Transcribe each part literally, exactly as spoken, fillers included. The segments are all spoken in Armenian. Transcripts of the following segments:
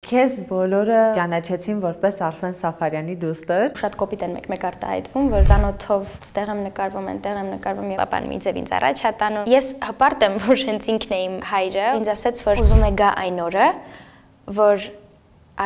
Քեզ բոլորը ճանաչեցին որպես Արսեն Սաֆարյանի դուստր։ Շատ կոպիտ են մեկ-մեկ արտահայտվում, որ ծանոթով ստեղ եմ նկարվում, այնտեղ եմ նկարվում եւ ապան մի ձև ինձ առաջ ա տանում։ Ես հպարտ եմ, որ հենց ինքն է իմ հայրը, ինձ ասաց, որ ուզում է գա այն օրը, որ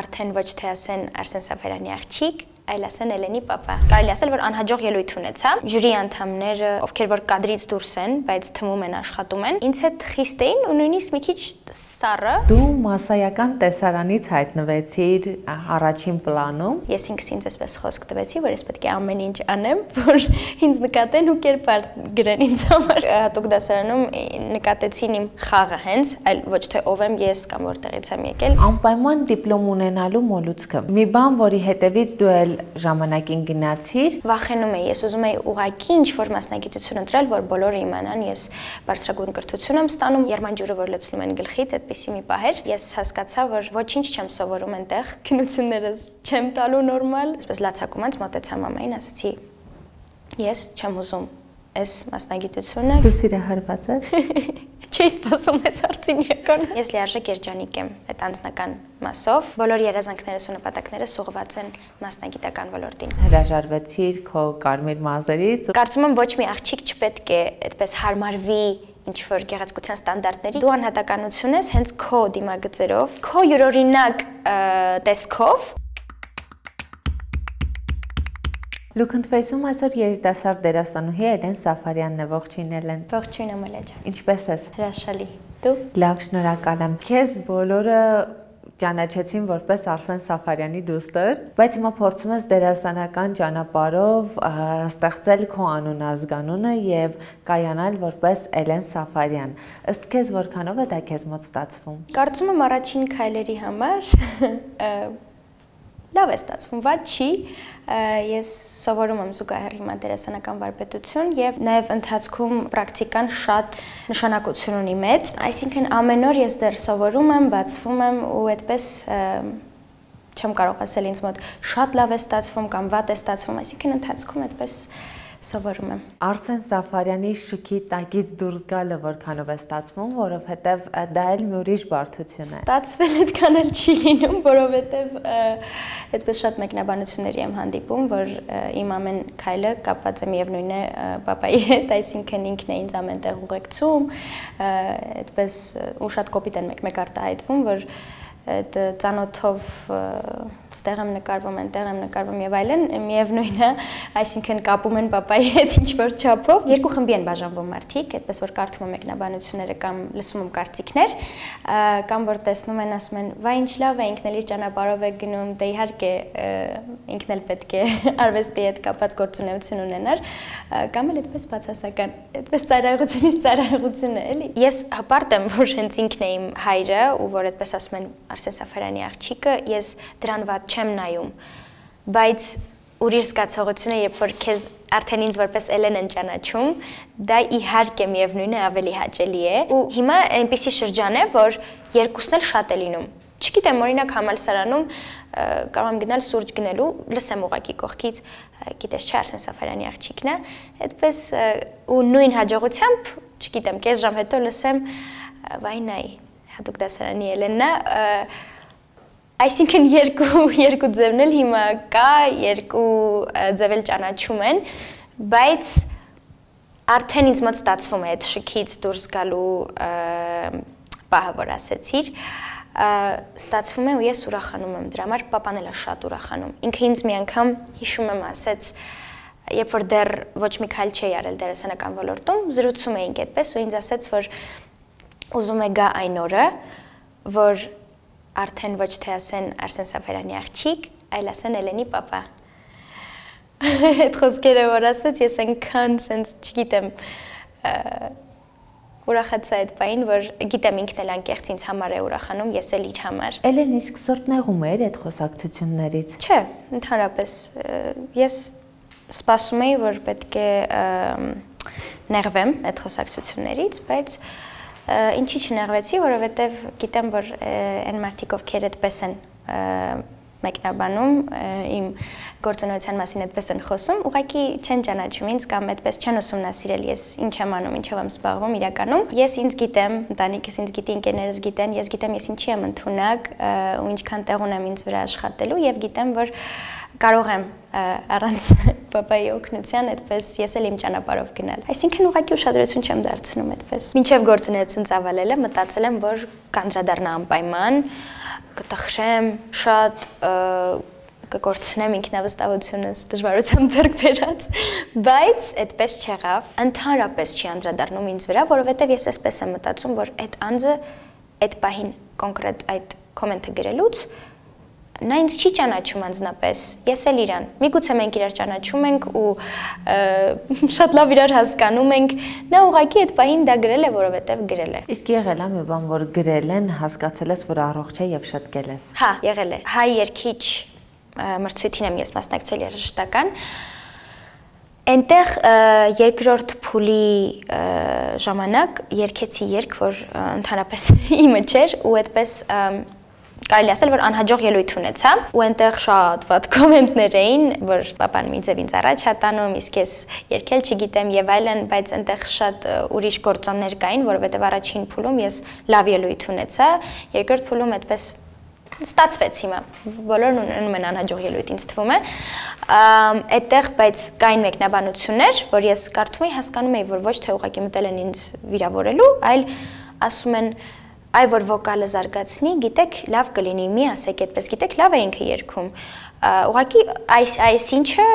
արդեն ոչ թե ասեն Արսեն Սաֆարյանի աղջիկ, այլ ասեն Էլենի պապա։ Կարելի ասել, որ անհաջող ելույթ ունեցա։ Ժյուրի անդամները, ովքեր որ կադրից դուրս են, բայց թվում են աշխատում են, ինձ հետ խիստ էին ու նույնիսկ մի քիչ սառը։ Դու մասսայական տեսարանից հայտնվեցիր առաջին պլանում։ Ես ինքս ինձ այսպես խոսք տվեցի, որ ես պետք է ամեն ինչ անեմ, որ ինձ նկատեն ու կերպար գրեն ինձ համար։ Հատուկ դասարանում նկատեցին իմ խաղը հենց, այլ ոչ թե ով եմ ես կամ որտեղից եմ եկել։ Անպայման դիպլոմ ունենալու մոլուցքը։ Մի բան, որի հետևից դու էլ ժամանակին գնացիր։ Վախենում էի, ես ուզում էի ուղղակի ինչ-որ մասնագիտություն ընտրել, որ բոլորը իմանան, ես բարձրագույն կրթություն եմ ստանում, եռմանջուրը որ լցնում են գլխիդ, այդպիսի մի պահ էր։ Ես հասկացա, որ ոչինչ չեմ սովորում այնտեղ, քնություններս չեմ տալու նորմալ։ Այսպես լացակումած մոտեցա մամային, ասացի. Ես չեմ ուզում այս մասնագիտությունը։ Դու սիրահարված ես։ Չի սպասում ես հարցին իրական։ Ես լիարժեք երջանիկ եմ այդ անձնական մասով։ Բոլոր երազանքներս ու նպատակներս ուղղված են մասնագիտական ոլորտին։ Հրաժարվեցիր քո կարմիր մազերից։ Կարծում եմ ոչ մի աղջիկ չպետք է այդպես հարմարվի ինչ-որ գեղեցկության ստանդարտների։ Դու անհատականություն ես հենց քո դիմագծերով, քո յուրօրինակ տեսքով։ Look and Face-ում այսօր երիտասարդ դերասանուհի Էլեն Սաֆարյանն է, ողջույն Էլեն։ Ողջույն Ամալիա ջան։ Ինչպե՞ս ես։ Հրաշալի։ Դու։ Լավ, շնորհակալ եմ։ Քեզ բոլորը ճանաչեցին որպես Արսեն Սաֆարյանի դուստր, բայց հիմա փորձում ես դերասանական ճանապարհով ստեղծել քո անուն-ազգանունը եւ կայանալ որպես Էլեն Սաֆարյան։ Ըստ քեզ որքանով է դա քեզ մոտ ստացվում։ Կարծում եմ առաջին քայլերի համար լավ է ստացվում, վատ չի։ Ես սովորում եմ զուգահեռ հիմա դերասանական վարպետություն եւ նաեւ ընթացքում պրակտիկան շատ նշանակություն ունի մեծ, այսինքն ամեն օր ես դեռ սովորում եմ, բացվում եմ ու այդպես չեմ կարող ասել ինձ մոտ շատ լավ է ստացվում կամ վատ է ստացվում, այսինքն ընթացքում այդպես սովորում եմ։ Արսեն Սաֆարյանի շուքի տակից դուրս գալը որքանով է ստացվում, որովհետև դա էլ մի ուրիշ բարդություն է։ Ստացվել այդքան էլ չի լինում, որովհետև այդպես շատ մեկնաբանությունների եմ հանդիպում, որ իմ ամեն քայլը կապված է միևնույն է պապայի հետ, այսինքն ինքն է ինձ ամենտեղ ուղեկցում, այդպես ու շատ կոպիտ են մեկ-մեկ արտահայտվում, որ այդ ծանոթով ստեղ եմ նկարվում, այնտեղ եմ նկարվում եւ այլն, միևնույն է, այսինքն կապում են պապայի հետ ինչ-որ չափով։ Երկու խմբի են բաժանվում մարդիկ, այդպես որ կարդում եմ մեկնաբանությունները կամ լսում եմ կարծիքներ, կամ որ տեսնում են, ասում են, «Վայ, ինչ լավ է, ինքն էլ իր ճանապարհով է գնում», դե իհարկե ինքն էլ պետք է արվեստի հետ կապված գործունեություն ունենար, կամ էլ այդպես բացասական, այդպես ծայրահեղությունից ծայրահեղություն է, էլի։ Ես հպարտ եմ, որ հենց ինքն է իմ հայրը, ու որ այդպես ասում են Արսեն Սաֆարյանի աղջիկը, ես դրան վատ չեմ նայում, բայց ուրիշ զգացողությունը, երբ որ քեզ արդեն ինձ որպես Էլեն են ճանաչում, դա իհարկե միևնույն է ավելի հաճելի է։ Ու հիմա այնպիսի շրջան է, որ երկուսն էլ շատ է լինում։ Չգիտեմ, օրինակ համալսարանում կարող եմ գնալ սուրճ գնելու, լսեմ ուղակի կողքից, գիտես չէ, Արսեն Սաֆարյանի աղջիկն է, այդպես ու նույն հաջողությամբ, չգիտեմ, կես ժամ հետո լսեմ, վայ նայ, հատուկ դասարանի Էլենն է, այսինքն երկու երկու ձևն էլ հիմա կա, երկու ձև էլ ճանաչում են, բայց արդեն ինձ մոտ ստացվում է այդ շքից դուրս գալու պահը, որ ասեցիր, ստացվում է ու ես ուրախանում եմ դրա համար, պապան էլ է շատ ուրախանում։ Ինքը ինձ մի անգամ հիշում եմ ասեց, երբ որ դեռ ոչ մի քայլ չէի արել դերասանական ոլորտում, զրուցում էինք այդպես ու ինձ ասեց, որ ուզում է գա այն օրը, որ արդեն ոչ թե ասեն Արսեն Սաֆարյանի աղջիկ, այլ ասեն Էլենի պապա։ Այդ խոսքերը որ ասեց, ես այնքան սենց, չգիտեմ, ուրախացա այդ պահին, որ գիտեմ ինքն էլ անկեղծ ինձ համար է ուրախանում, ես էլ իր համար։ Էլեն, իսկ սրտ նեղում էր այդ խոսակցություններից։ Չէ, ընդհանրապես ես սպասում էի, որ պետք է նեղվեմ այդ խոսակցություններից, բայց ինչի չնեղվեցի, որովհետև գիտեմ, որ այն մարդիկ, ովքեր այդպես են մեկնաբանում, իմ գործունեության մասին այդպես են խոսում, ուղղակի չեն ճանաչում ինձ կամ այդպես չեն ուսումնասիրել ես ինչ եմ անում, ինչով եմ զբաղվում իրականում։ Ես ինձ գիտեմ, ընտանիքս ինձ գիտի, ընկերներս գիտեն, ես գիտեմ ես ինչի եմ ընդունակ ու ինչքան տեղ ունեմ ինձ վրա աշխատելու եւ գիտեմ, որ կարող եմ առանց պապայի օգնության այդպես ես էլ իմ ճանապարհով գնալ։ Այսինքն ուղղակի ուշադրություն չեմ դարձնում այդպես։ Մինչև գործունեություն ծավալելը մտածել եմ, որ կանդրադառնա անպայման, կտխրեմ շատ, կկորցնեմ ինքնավստահությունս, դժվարությամբ ձեռք բերած, բայց այդպես չեղավ։ Ընդհանրապես չի անդրադառնում ինձ վրա, որովհետև ես այսպես եմ մտածում, որ այդ անձը այդ պահին կոնկրետ այդ կոմենտը գրելուց նա ինձ չի ճանաչում անձնապես, ես էլ իրան, միգուցե մենք իրար ճանաչում ենք ու շատ լավ իրար հասկանում ենք, նա ուղղակի այդ պահին դա գրել է, որովհետև գրել է։ Իսկ եղել է մի բան, որ գրել են, հասկացել ես, որ առողջ է եւ շտկել ես։ Հա, եղել է։ Հայ երգիչ մրցույթին եմ ես մասնակցել երաժշտական։ Այնտեղ երկրորդ փուլի ժամանակ երգեցի երգ, որ ընդհանրապես իմը չէր ու այդպես կարելի ասել, որ անհաջող ելույթ ունեցա ու այնտեղ շատ վատ կոմենտներ էին, որ պապան ինձ եւ ինձ առաջ հատանում, իսկ ես երգել չգիտեմ եւ այլն, բայց այնտեղ շատ ուրիշ գործոններ կային, որովհետեւ առաջին փուլում ես լավ ելույթ ունեցա, երկրորդ փուլում այդպես ստացվեց հիմա, բոլորն ունենում են անհաջող ելույթ, ինձ թվում է, այդտեղ բայց կային մեկնաբանություններ, որ ես կարդում էի, հասկանում էի, որ ոչ թե ուղղակի մտել են ինձ վիրավորելու, այլ ասում են այ որ վոկալը զարգացնի, գիտեք, լավ կլինի, մի ասեք այդպես, գիտեք, լավ է ինքը երգում։ Ուղղակի այս այս ինչը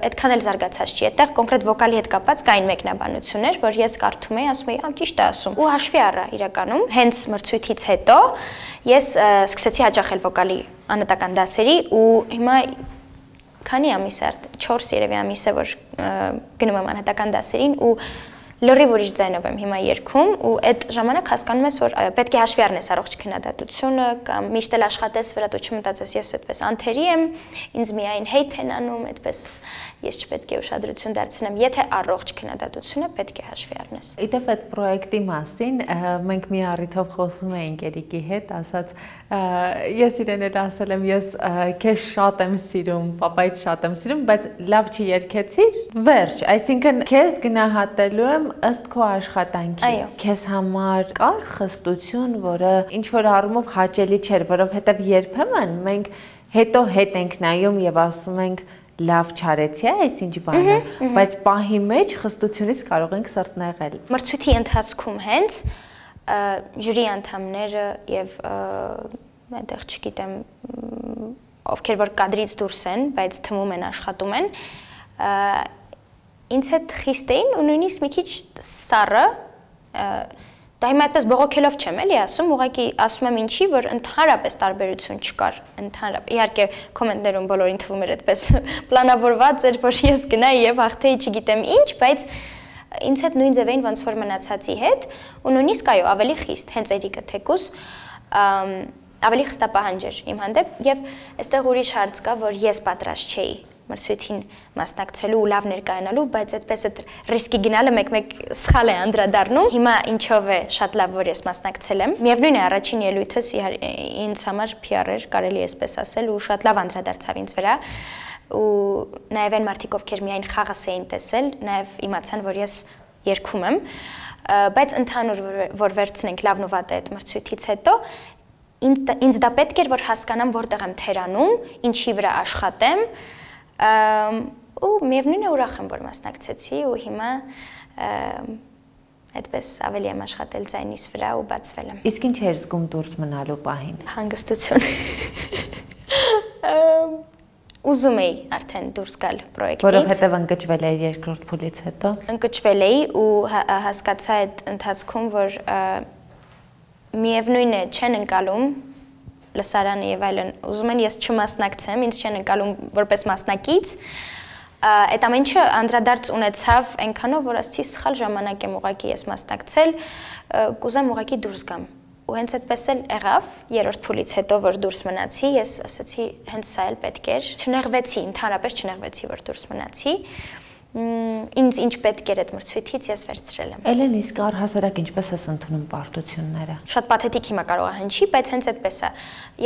այդքան էլ զարգացած չի։ Այդտեղ կոնկրետ վոկալի հետ կապված կային մեկնաբանություններ, որ ես կարդում էի, ասում էի, ամ ճիշտ է ասում։ Ու հաշվի առա իրականում, հենց մրցույթից հետո ես սկսեցի հաճախել վոկալի անհատական դասերի ու հիմա քանի ամիս է, չորս երևի ամիս է, որ գնում եմ անհատական դասերին ու լրիվ ուրիշ ձայնով եմ հիմա երգում ու այդ ժամանակ հասկանում ես, որ պետք է հաշվի առնես առողջ քննադատությունը կամ միշտ էլ աշխատես վրա դու չմտածես ես այդպես անթերի եմ, ինձ միայն հեյթ են անում, այդպես ես չպետք է ուշադրություն դարձնեմ, եթե առողջ քննադատությունը պետք է հաշվի առնես։ Իդեպ այդ պրոյեկտի մասին մենք մի առիթով խոսում էինք Երիկի հետ, ասաց ես իրեն էլ ասել եմ, ես քեզ շատ եմ սիրում, պապայից շատ եմ սիրում, բայց լավ չի երգեցիր, վերջ, այսինքն քեզ գնահատելու եմ ըստ քո աշխատանքի։ Քեզ համար կար խստություն, որը ինչ որ առումով հաճելի չէր, որովհետև երբեմն մենք հետո հետ ենք նայում եւ ասում ենք լավ չարեցի, այսինչ բանը, բայց պահի մեջ խստությունից կարող ենք սրտնեղել։ Մրցույթի ընթացքում հենց ժյուրի անդամները եւ այդտեղ չգիտեմ ովքեր որ կադրից դուրս են, բայց թվում են աշխատում են, ինձ հետ խիստ էին ու նույնիսկ մի քիչ սառը, դա հիմա այդպես բողոքելով չեմ էլի ասում, ուղղակի ասում եմ ինչի, որ ընդհանրապես տարբերություն չկար, ընդհանրապես, իհարկե կոմենտներում բոլորին թվում էր այդպես պլանավորված էր, որ ես գնայի եւ հաղթեի չգիտեմ ինչ, բայց ինձ հետ նույն ձև էին ոնց որ մնացածի հետ ու նույնիսկ այո, ավելի խիստ, հենց Երիկը թեկուս ավելի խստապահանջ էր իմ հանդեպ եւ այստեղ ուրիշ հարց կա, որ ես պատրաստ չէի մրցույթին մասնակցելու ու լավ ներկայանալու, բայց այդպես այդ ռիսկի գնալը մեկ-մեկ սխալ է անդրադառնում։ Հիմա ինչով է շատ լավ, որ ես մասնակցել եմ։ Միևնույն է, առաջին ելույթս ինձ համար փի ար էր, կարելի է այսպես ասել, ու շատ լավ անդրադարձավ ինձ վրա։ Ու նաև այն մարդիկ, ովքեր միայն խաղս էին տեսել, նաև իմացան, որ ես երգում եմ, բայց ընդհանուր որ վերցնենք լավն ու վատը այդ մրցույթից հետո ինձ դա պետք էր, որ հասկանամ որտեղ եմ թերանում, ինչի վրա աշխատեմ, ու միևնույն է ուրախ եմ, որ մասնակցեցի ու հիմա այդպես ավելի եմ աշխատել ձայնիս վրա ու բացվել եմ։ Իսկ ինչ էր զգում դուրս մնալու պահին։ Հանգստություն։ Ուզում էի արդեն դուրս գալ պրոյեկտից։ Որովհետև ընկճվել էի երկրորդ փուլից հետո։ Ընկճվել էի ու հասկացա այդ ընթացքում, որ միևնույն է չեն ընկալում լսարանը եւ այլն, ուզում են ես չմասնակցեմ, ինձ չեն ընկալում որպես մասնակից, այդ ամեն ինչը անդրադարձ ունեցավ այնքանով, որ ասացի սխալ ժամանակ եմ ուղղակի ես մասնակցել, կուզեմ ուղղակի դուրս գամ։ Ու հենց այդպես էլ եղավ, երրորդ փուլից հետո որ դուրս մնացի, ես ասացի հենց սա էլ պետք էր, չնեղվեցի, ընդհանրապես չնեղվեցի, որ դուրս մնացի, ինձ ինչ պետք էր այդ մրցույթից ես վերցրել եմ։ Էլեն, իսկ առհասարակ ինչպես ես ընդունում պարտությունները։ Շատ պաթետիկ հիմա կարող է հնչի, բայց հենց այդպես է։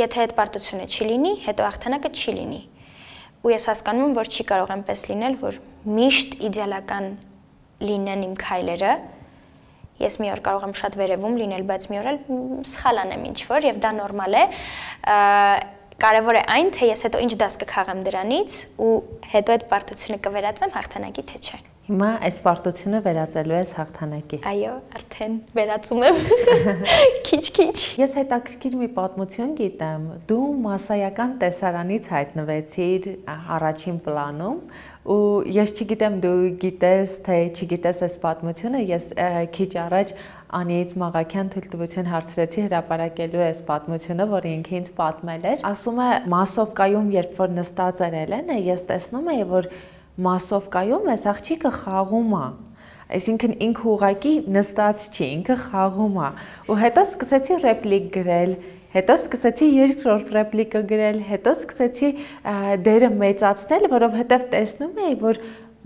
Եթե այդ պարտությունը չի լինի, հետո հաղթանակը չի լինի։ Ու ես հասկանում եմ, որ չի կարող այնպես լինել, որ միշտ իդեալական լինեն իմ քայլերը։ Ես մի օր կարող եմ շատ վերևում լինել, բայց մի օր էլ սխալ անեմ ինչ-որ եւ դա նորմալ է։ Կարևոր է այն, թե ես հետո ինչ դաս կքաղեմ դրանից ու հետո այդ պարտությունը կվերածեմ հաղթանակի թե չէ։ Հիմա այս պարտությունը վերածելու ես հաղթանակի։ Այո, արդեն վերածում եմ։ Քիչ-քիչ։ Ես հետաքրքիր մի պատմություն գիտեմ։ Դու մասսայական տեսարանից հայտնվեցիր առաջին պլանում ու ես չգիտեմ դու գիտես թե չգիտես այս պատմությունը, ես քիչ առաջ Անիից Մաղաքյան թույլտվություն հարցրեցի հրապարակելու այս պատմությունը, որը ինքը ինձ պատմել էր։ Ասում է մասովկայում երբ որ նստած էր Էլենը, ես տեսնում էի, որ մասովկայում այս աղջիկը խաղում է։ Այսինքն ինքը ուղակի նստած չի, ինքը խաղում է։ Ու հետո սկսեցի ռեպլիկ գրել, հետո սկսեցի երկրորդ ռեպլիկը գրել, հետո սկսեցի դերը մեծացնել, որովհետև տեսնում էի, որ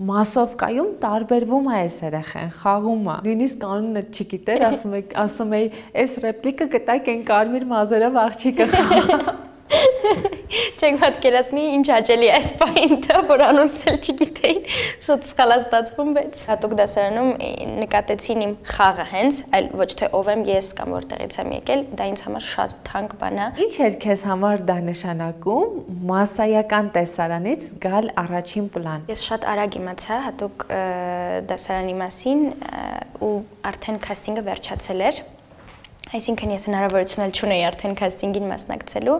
մասովկայում տարբերվում է այս երեխան, խաղում է։ Նույնիսկ կանոնը չգիտեր, ասում է, ասում էի, այս ռեպլիկը կտակ են կարմիր մազերով աղջիկը խաղա։ Չեք պատկերացնի ինչ հաճելի է այս պահին դա, որ անունս էլ չգիտեին, շուտ սխալ է ստացվում, բայց հատուկ դասարանում նկատեցին իմ խաղը հենց, այլ ոչ թե ով եմ ես կամ որտեղից եմ եկել, դա ինձ համար շատ թանկ բան է։ Ինչ էր քեզ համար դա նշանակում մասսայական տեսարանից գալ առաջին պլան։ Ես շատ արագ իմացա հատուկ դասարանի մասին ու արդեն քաստինգը վերջացել էր։ Այսինքն ես հնարավորություն էլ չունեի արդեն քաստինգին մասնակցելու,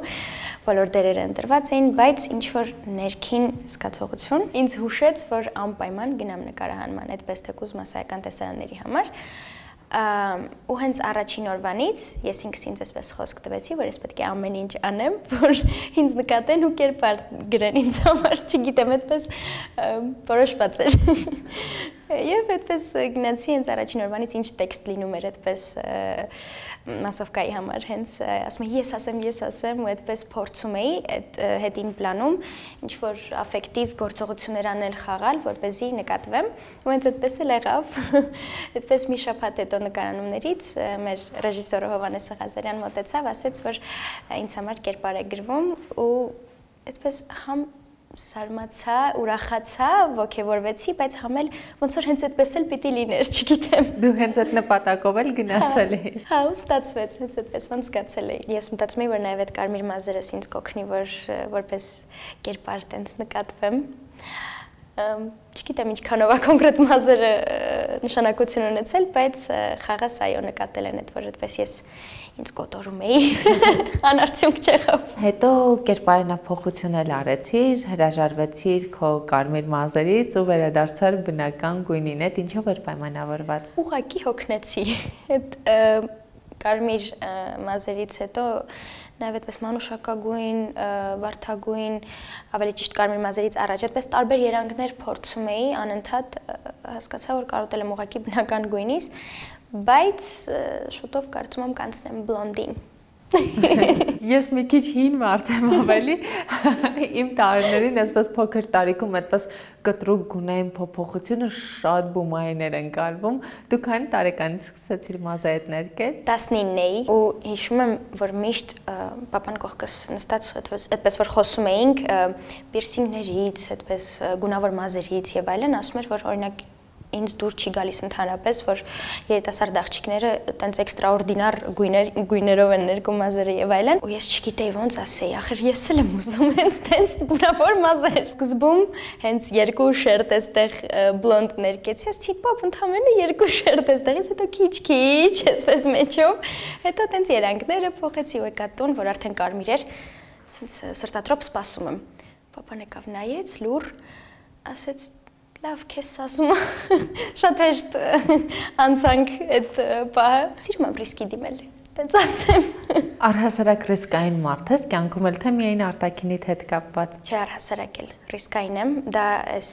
բոլոր դերերը ընտրված էին, բայց ինչ որ ներքին զգացողություն ինձ հուշեց, որ անպայման գնամ նկարահանման, այդպես թեկուզ մասսայական տեսարանների համար։ Ու հենց առաջին օրվանից ես ինքս ինձ այսպես խոսք տվեցի, որ ես պետք է ամեն ինչ անեմ, որ ինձ նկատեն ու կերպար գրեն ինձ համար, չգիտեմ, այդպես որոշված էր։ Եվ այդպես գնացի հենց առաջին օրվանից ինչ տեքստ լինում էր այդպես մասովկայի համար, հենց ասում եմ ես ասեմ, ես ասեմ ու այդպես փորձում էի այդ հետին պլանում ինչ-որ աֆեկտիվ գործողություններ անել, խաղալ, որպեսզի նկատվեմ ու հենց այդպես էլ եղավ, այդպես մի շաբաթ հետո նկարանումներից մեր ռեժիսորը Հովհաննես Ղազարյան մոտեցավ, ասեց, որ ինձ համար կերպար է գրվում ու այդպես համ սարմացա, ուրախացա, ոգևորվեցի, բայց համ էլ ոնց որ հենց այդպես էլ պիտի լիներ, չգիտեմ։ Դու հենց այդ նպատակով էլ գնացել ես։ Հա, ու ստացվեց, հենց այդպես ոնց զգացել էի։ Ես մտածում էի, որ նաև այդ կարմիր մազերս ինձ կօգնի, որ որպես կերպար տենց նկատվեմ։ Չգիտեմ ինչքանով է կոնկրետ մազերը նշանակություն ունեցել, բայց խաղաս այո նկատել են այդ, որ այդպես ես ինձ կոտորում էի, անարդյունք չեղավ։ Հետո կերպարանափոխություն էլ արեցիր, հրաժարվեցիր քո կարմիր մազերից ու վերադարձար բնական գույնին, այդ ինչով էր պայմանավորված։ Ուղղակի հոգնեցի։ Այդ կարմիր մազերից հետո նաև այդպես մանուշակագույն, վարդագույն, ավելի ճիշտ կարմիր մազերից առաջ այդպես տարբեր երանգներ փորձում էի, անընդհատ հասկացա, որ կարոտել եմ ուղղակի բնական գույնից, բայց շուտով կարծում եմ կանցնեմ բլոնդին։ Ես մի քիչ հին մարդ եմ ավելի, իմ տարիներին այսպես փոքր տարիքում այդպես կտրուկ գունային փոփոխությունը շատ բումայներ են կարվում։ Դու քանի տարեկանից սկսեցիր մազայդ ներկել։ տասնինն էի ու հիշում եմ, որ միշտ պապան կողքս նստած այդպես որ խոսում էինք պիրսինգներից, այդպես գունավոր մազերից եւ այլն, ասում էր, որ օրինակ ինձ դուր չի գալիս ընդհանրապես, որ երիտասարդ աղջիկները տենց էքստրաորդինար գույներ, գույներով են ներկում մազերը եւ այլն, ու ես չգիտեի ոնց ասեի, ախր ես էլ եմ ուզում հենց տենց բնավոր մազեր, սկզբում հենց երկու շերտ էստեղ բլոնդ ներկեցի, ասեցի, պապ, ընդամենը երկու շերտ էստեղից, հետո քիչ-քիչ, այսպես մեջով, հետո տենց երանգները փոխեցի ու եկա տուն, որ արդեն կարմիր էր, ասենց սրտատրոփ սպասում եմ։ Պապան եկավ նայեց, լուր, ասեց լավ, քեզ ասում շատ հեշտ անցանք այդ պահը։ Սիրում եմ ռիսկի դիմել, տենց ասեմ։ Առհասարակ ռիսկային մարդ ես, կյանքում էլ թե միայն արտաքինիդ հետ կապված։ Չէ, առհասարակ էլ ռիսկային եմ, դա էս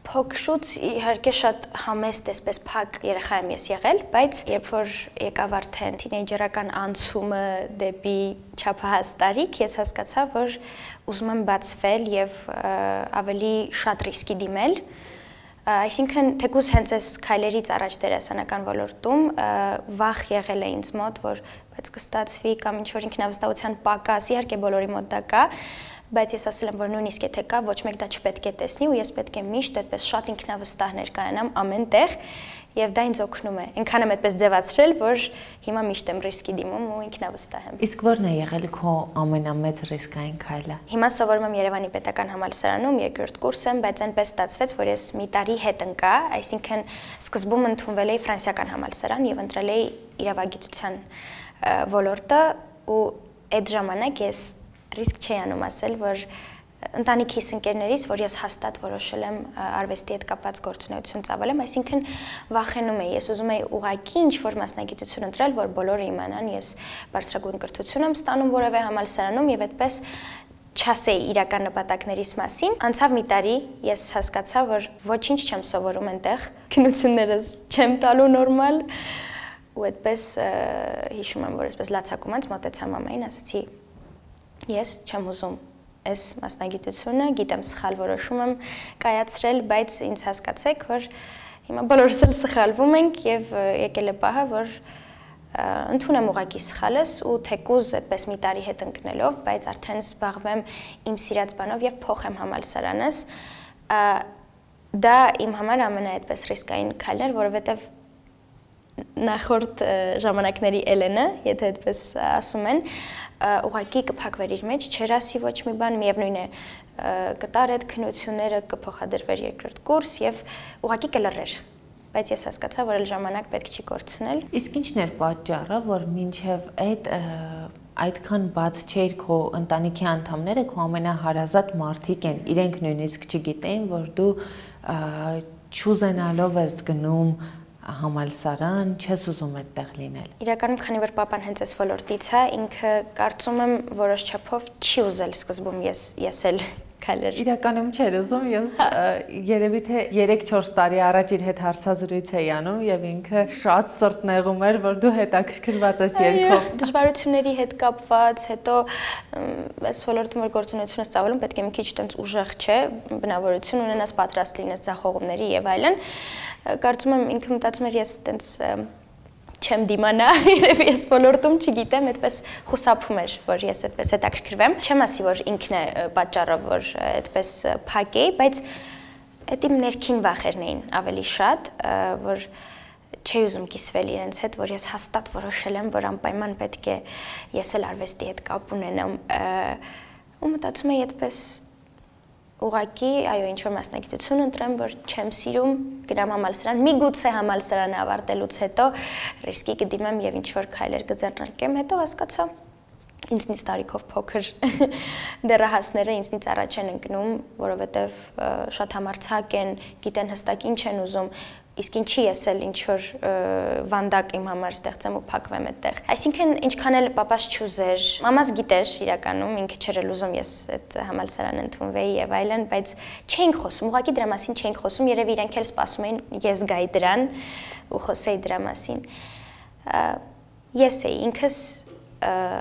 Փոքրուց իհարկե շատ համեստ էսպես փակ երեխա եմ ես եղել, բայց երբ որ եկավ արդեն թինեյջերական անցումը դեպի չափահաս տարիք, ես հասկացա, որ ուզում եմ բացվել եւ ավելի շատ ռիսկի դիմել։ Այսինքն թեկուզ հենց այս քայլերից առաջ դերասանական ոլորտում վախ եղել է ինձ մոտ, որ բայց կստացվի կամ ինչ-որ ինքնավստահության պակաս, իհարկե բոլորի մոտ դա կա, բայց ես ասել եմ, որ նույնիսկ եթե կա, ոչ մեկ դա չպետք է տեսնի ու ես պետք է միշտ այդպես շատ ինքնավստահ ներկայանամ ամեն տեղ եւ դա ինձ օգնում է։ Այնքան եմ այդպես ձևացրել, որ հիմա միշտ եմ ռիսկի դիմում ու ինքնավստահ եմ։ Իսկ ո՞րն է եղել քո ամենամեծ ռիսկային քայլը։ Հիմա սովորում եմ Երևանի պետական համալսարանում, երկրորդ կուրս եմ, բայց այնպես ստացվեց, որ ես մի տարի հետ ընկա, այսինքն սկզբում ընդունվել էի ֆրանսիական համալսարան եւ ընտրել էի իրավագիտության ոլորտը ու այդ ժամանակ ես ռիսկ չի անում ասել, որ ընտանիքիս ընկերներից, որ ես հաստատ որոշել եմ արվեստի հետ կապված գործունեություն ծավալեմ, այսինքն վախենում էի, ես ուզում էի ուղղակի ինչ-որ մասնագիտություն ընտրել, որ բոլորը իմանան, ես բարձրագույն կրթություն եմ ստանում որևէ համալսարանում եւ այդպես չասեի իրական նպատակներիս մասին։ Անցավ մի տարի, ես հասկացա, որ ոչինչ չեմ սովորում այնտեղ, քննություններս չեմ տալու նորմալ ու այդպես հիշում եմ, որ այսպես լացակումից մոտեցա մամային, ասացի ես չեմ ուզում այս մասնագիտությունը, գիտեմ սխալ որոշում եմ կայացրել, բայց ինձ հասկացեք, որ հիմա բոլորս էլ սխալվում ենք եւ եկել է պահը, որ ընդունեմ ուղղակի սխալս ու թեկուզ այդպես մի տարի հետ ընկնելով, բայց արդեն զբաղվեմ իմ սիրած բանով եւ փոխեմ համալսարանս, դա իմ համար ամենա այդպես ռիսկային քայլն էր, որովհետեւ նախորդ ժամանակների Էլենը, եթե այդպես ասում են, ուղղակի կփակվեր իր մեջ, չեր ասի ոչ մի բան, միևնույն է կտար այդ քննությունները, կփոխադրվեր երկրորդ կուրս եւ ուղղակի կլռեր, բայց ես հասկացա, որ այլ ժամանակ պետք չի կորցնել։ Իսկ ի՞նչն էր պատճառը, որ մինչեւ այդ այդքան բաց չէր քո ընտանիքի անդամները, քո ամենահարազատ մարդիկ են, իրենք նույնիսկ չգիտեին, որ դու չուզենալով ես գնում համալսարան, չես ուզում այդտեղ լինել։ Իրականում, քանի որ papan հենց այս ոլորտից է, ինքը կարծում եմ որոշ չափով չի ուզել սկզբում ես ես էլ քայլեր։ Իրականում չէր ուզում, ես երևի թե երեք-չորս տարի առաջ իր հետ հարցազրույց էի անում եւ ինքը շատ սրտնեղում էր, որ դու հետաքրքրված ես երգով։ Դժվարությունների հետ կապված, հետո այս ոլորտում որ գործունեություն ես ծավալում, պետք է մի քիչ տենց ուժեղ չէ, բնավորություն ունենաս, պատրաստ լինես ձախողումների եւ այլն։ Կարծում եմ ինքը մտածում էր ես տենց չեմ դիմանա, երևի ես ոլորտում չգիտեմ, այդպես խուսափում էր, որ ես այդպես հետաքրքրվեմ։ Չեմ ասի, որ ինքն է պատճառը, որ այդպես փակ էի, բայց այդ իմ ներքին վախերն էին ավելի շատ, որ չի ուզում կիսվել իրենց հետ, որ ես հաստատ որոշել եմ, որ անպայման պետք է ես էլ արվեստի հետ կապ ունենամ, ու մտածում էի այդպես ուղղակի, այո, ինչ-որ մասնագիտություն ընտրեմ, որ չեմ սիրում, գնամ համալսարան, միգուցե համալսարանը ավարտելուց հետո ռիսկի կդիմեմ եւ ինչ-որ քայլեր կձեռնարկեմ, հետո հասկացա ինձնից տարիքով փոքր դեռահասները ինձնից առաջ են ընկնում, որովհետեւ շատ համարձակ են, գիտեն հստակ ինչ են ուզում, իսկ ինչի ես էլ ինչ-որ վանդակ իմ համար ստեղծեմ ու փակվեմ այդտեղ։ Այսինքն ինչքան էլ papas չուզեր, մամաս գիտեր իրականում, ինքը չէր էլ ուզում ես այդ համալսարան ընդունվեի եւ այլն, բայց չէինք խոսում, ուղղակի դրա մասին չէինք խոսում, երևի իրենք էլ սպասում էին ես գայի դրան ու խոսեի դրա մասին։ Ես էի ինքս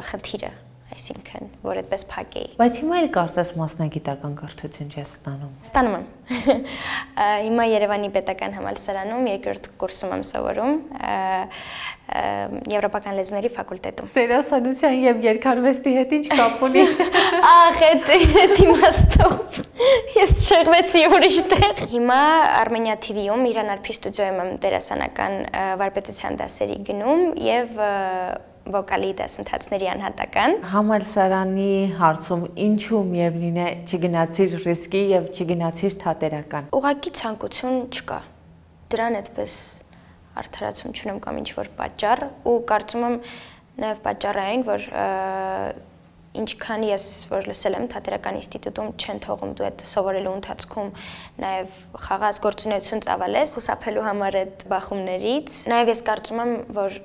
խնդիրը, այսինքն, որ այդպես փակ էի։ Բայց հիմա էլ կարծես մասնագիտական կրթություն չես ստանում։ Ստանում եմ։ Հիմա Երևանի պետական համալսարանում երկրորդ կուրսում եմ սովորում, Եվրոպական լեզուների ֆակուլտետում։ Դերասանության եւ երգարվեստի հետ ինչ կապ ունի։ Ախ, այդ իմաստով։ Ես շեղվեցի ուրիշ տեղ։ Հիմա Armenia T V-ում Իրան Արփի ստուդիոյում եմ դերասանական վարպետության դասերի գնում եւ վոկալի դասընթացների անհատական։ Համալսարանի հարցում ինչու միևնույն է չգնացիր ռիսկի եւ չգնացիր թատերական։ Ուղղակի ցանկություն չկա։ Դրան այդպես արդարացում չունեմ կամ ինչ-որ պատճառ ու կարծում եմ նաեւ պատճառը այն, որ ինչքան ես որ լսել եմ թատերական ինստիտուտում չեն թողում դու այդ սովորելու ընթացքում նաեւ խաղաց գործունեություն ծավալես, խուսափելու համար այդ բախումներից։ Նաեւ ես կարծում եմ, որ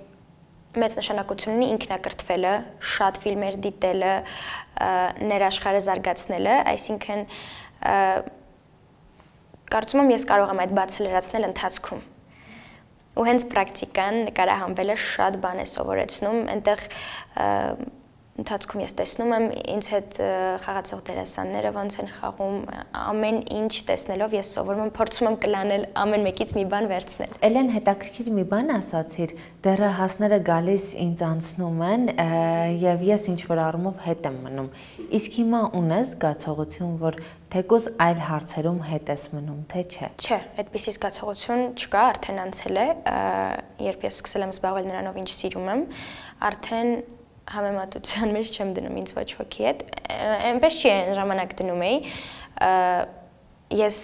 մեծ նշանակություն ունի ինքնակրթվելը, շատ ֆիլմեր դիտելը, ներաշխարհը զարգացնելը, այսինքն կարծում եմ ես կարող եմ այդ բացը լրացնել ընթացքում։ Ու հենց պրակտիկան նկարահանվելը շատ բան է սովորեցնում, այնտեղ ընթացքում ես տեսնում եմ ինձ հետ խաղացող դերասանները ոնց են խաղում, ամեն ինչ տեսնելով ես սովորում եմ, փորձում եմ կլանել ամեն մեկից մի բան վերցնել։ Էլեն, հետաքրքիր մի բան ասացիր, դեռահասները գալիս ինձ անցնում են եւ ես ինչ որ առումով հետ եմ մնում։ Իսկ հիմա ունես զգացողություն, որ թեկուզ այլ հարցերում հետ ես մնում, թե չէ։ Չէ, այդպիսի զգացողություն չկա, արդեն անցել է, երբ ես սկսել եմ զբաղվել նրանով, ինչ սիրում եմ, արդեն համեմատության մեջ չեմ դնում ինձ ոչ ոքի հետ, այնպես չի այն ժամանակ դնում էի, ես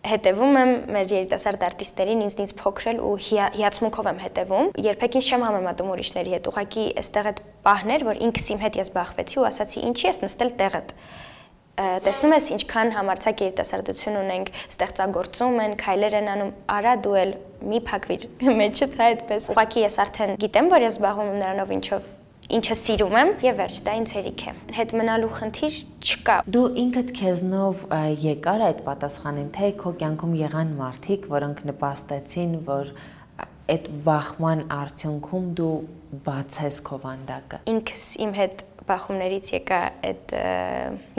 հետևում եմ մեր երիտասարդ արտիստերին, ինձնից փոքրել ու հիացմունքով եմ հետևում, երբեք ինձ չեմ համեմատում ուրիշների հետ, ուղղակի այստեղ այդ պահն էր, որ ինքս իմ հետ ես բախվեցի ու ասացի ինչի ես նստել տեղդ։ Տեսնում ես ինչքան համարձակ երիտասարդություն ունենք, ստեղծագործում են, քայլեր են անում, արա դու էլ մի փակվիր մեջդ այդպես։ Ուղղակի ես արդեն գիտեմ, որ ես զբաղվում եմ նրանով ինչով ինչը սիրում եմ եւ վերջ, դա ինձ հերիք է։ Հետ մնալու խնդիր չկա։ Դու ինքդ քեզնով եկար այդ պատասխանին, թե քո կյանքում եղան մարդիկ, որոնք նպաստեցին, որ այդ բախման արդյունքում դու բացես քո վանդակը։ Ինքս իմ հետ բախումներից եկա այդ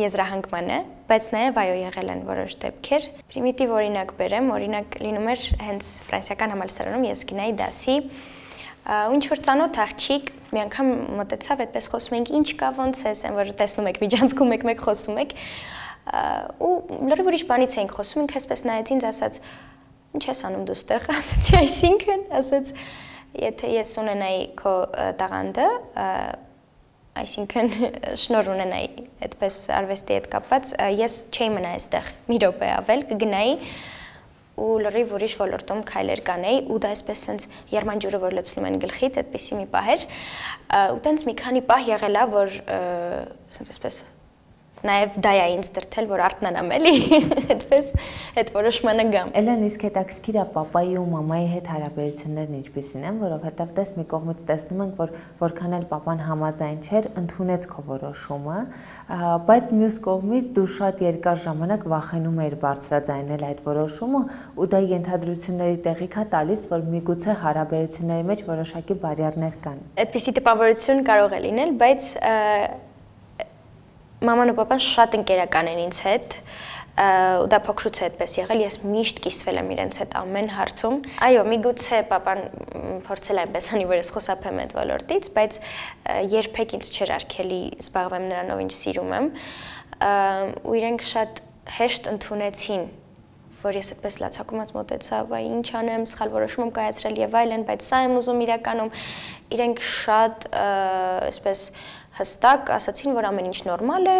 եզրահանգմանը, բայց նաև այո եղել են որոշ դեպքեր։ Պրիմիտիվ օրինակ բերեմ, օրինակ լինում էր հենց ֆրանսիական համալսարանում ես գնայի դասի, ու ինչ որ ծանոթ աղջիկ մի անգամ մտեցավ, այդպես խոսում ենք, ինչ կա, ոնց ես, այն որ տեսնում եք միջանցքում եք-մեկ խոսում եք, ու լրիվ ուրիշ բանից էինք խոսում, ինքը այսպես նայեց ինձ, ասաց, ինչ ես անում դու ստեղ, ասացի, այսինքն, ասաց, եթե ես ունենայի քո տաղանդը, այսինքն շնոր ունենայի այդպես արվեստի հետ կապված, ես չէի մնա այստեղ մի րոպե ավել, կգնայի ու լրիվ ուրիշ ոլորտում քայլեր կանեի ու դա այսպես սենց երմանջուրը որ լցնում են գլխիդ, այդպիսի մի պահ էր ու տենց մի քանի պահ եղել է, որ սենց այսպես նաև դա է ինձ դրթել, որ արթնանամ էլի, այդպես այդ որոշմանը գամ։ Էլեն, իսկ հետաքրքիր է պապայի ու մամայի հետ հարաբերություններն ինչպիսին են, որովհետև տես մի կողմից տեսնում ենք, որ որքան էլ պապան համաձայն չէր, ընդունեց քո որոշումը, բայց մյուս կողմից դու շատ երկար ժամանակ վախենում էիր բարձրաձայնել այդ որոշումը ու դա ենթադրությունների տեղիք է տալիս, որ միգուցե հարաբերությունների մեջ որոշակի բարիերներ կան։ Այդպիսի տպավորություն կարող է լինել, բայց մաման ու պապան շատ ընկերական են ինձ հետ, ու դա փոքրուց է այդպես եղել, ես միշտ կիսվել եմ իրենց հետ ամեն հարցում։ Այո, միգուցե պապան փորձել է այնպես անի, որ ես խուսափեմ այդ ոլորտից, բայց երբեք ինձ չէր արգելի զբաղվեմ նրանով, ինչ սիրում եմ, ու իրենք շատ հեշտ ընդունեցին, որ ես այդպես լացակումած մոտեցա, վայ ինչ անեմ, սխալ որոշում եմ կայացրել եւ այլն, բայց սա եմ ուզում իրականում, իրենք շատ այսպես հստակ ասացին, որ ամեն ինչ նորմալ է,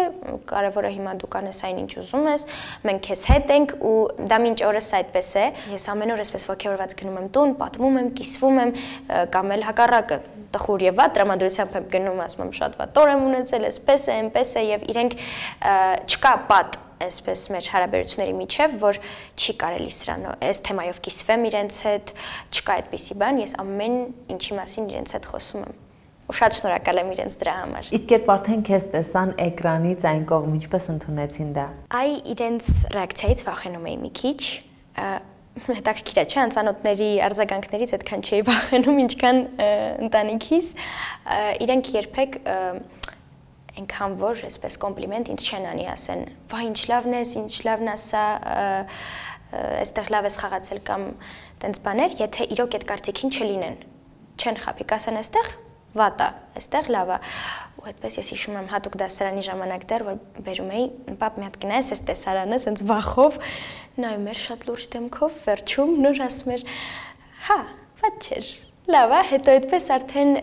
կարևորը հիմա դու կանես այն ինչ ուզում ես, մենք քեզ հետ ենք ու դա մինչ օրս այդպես է։ Ես ամեն օր այսպես ոգևորված գնում եմ տուն, պատմում եմ, կիսվում եմ, կամ էլ հակառակը, տխուր եւ վատ տրամադրությամբ եմ գնում, ասում եմ շատ վատ օր եմ ունեցել, այսպես է, այնպես է եւ իրենք չկա պատ այսպես մեր հարաբերությունների միջև, որ չի կարելի սրանով, այս թեմայով կիսվեմ իրենց հետ, չկա այդպիսի բան, ես ամեն ինչի մասին իրենց հետ խոսում եմ։ Ու շատ շնորհակալ եմ իրենց դրա համար։ Իսկ երբ արդեն քեզ տեսան էկրանից այն կողմ, ինչպես ընդունեցին դա։ Այ իրենց ռեակցիայից վախենում էի մի քիչ, հետաքրքիր է, չէ՞, անծանոթների արձագանքներից այդքան չէի վախենում, ինչքան ընտանիքիս, իրենք երբեք այնքան որ այսպես կոմպլիմենտ ինձ չեն անի, ասեն, վայ ինչ լավն ես, ինչ լավն ասա, այստեղ լավ ես խաղացել կամ տենց բաներ, եթե իրոք այդ կարծիքին չլինեն, չեն խաբի, կասեն այստեղ վատ է, այստեղ լավ է, ու այդպես ես հիշում եմ հատուկ դասարանի ժամանակ դեռ, որ բերում էի, պապ մի հատ գնայես այս տեսարանը, սենց վախով, նայում էր շատ լուրջ դեմքով, վերջում նոր ասում էր, հա, վատ չէր, լավ է, հետո այդպես արդեն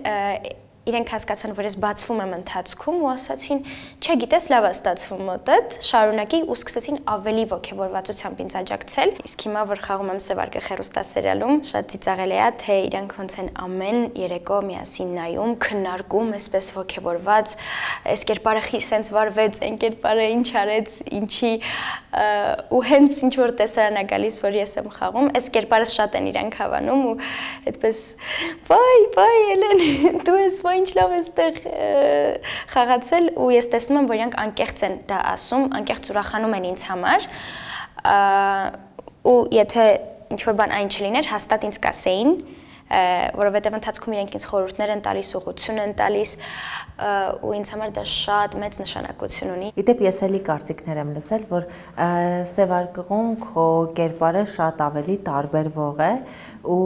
իրենք հասկացան, որ ես բացվում եմ ընթացքում ու ասացին, չէ, գիտես, լավ է ստացվում մոտդ, շարունակի ու սկսեցին ավելի ոգևորվածությամբ ինձ աջակցել։ Իսկ հիմա որ խաղում եմ Սևարգը հեռուստասերիալում, շատ ծիծաղելի է, թե իրանք ոնց են ամեն երեկո միասին նայում, քննարկում, այսպես ոգևորված, այս կերպարը սենց վարվեց, այն կերպարը ինչ արեց, ինչի ու հենց ինչ որ տեսարան է գալիս, որ ես եմ խաղում, այս կերպարը շատ են իրանք հավանում ու այդպես վայ, վայ, Էլեն, դու ես ինչ լավ ես տեղ խաղացել ու ես տեսնում եմ, որ իրանք անկեղծ են դա ասում, անկեղծ ուրախանում են ինձ համար ու եթե ինչ-որ բան այն չլիներ, հաստատ ինձ կասեին, որովհետև ընթացքում իրենք ինձ խորհուրդներ են տալիս, ուղղություն են տալիս ու ինձ համար դա շատ մեծ նշանակություն ունի։ Իդեպ ես էլի կարծիքներ եմ լսել, որ սևարկղում քո կերպարը շատ ավելի տարբերվող է ու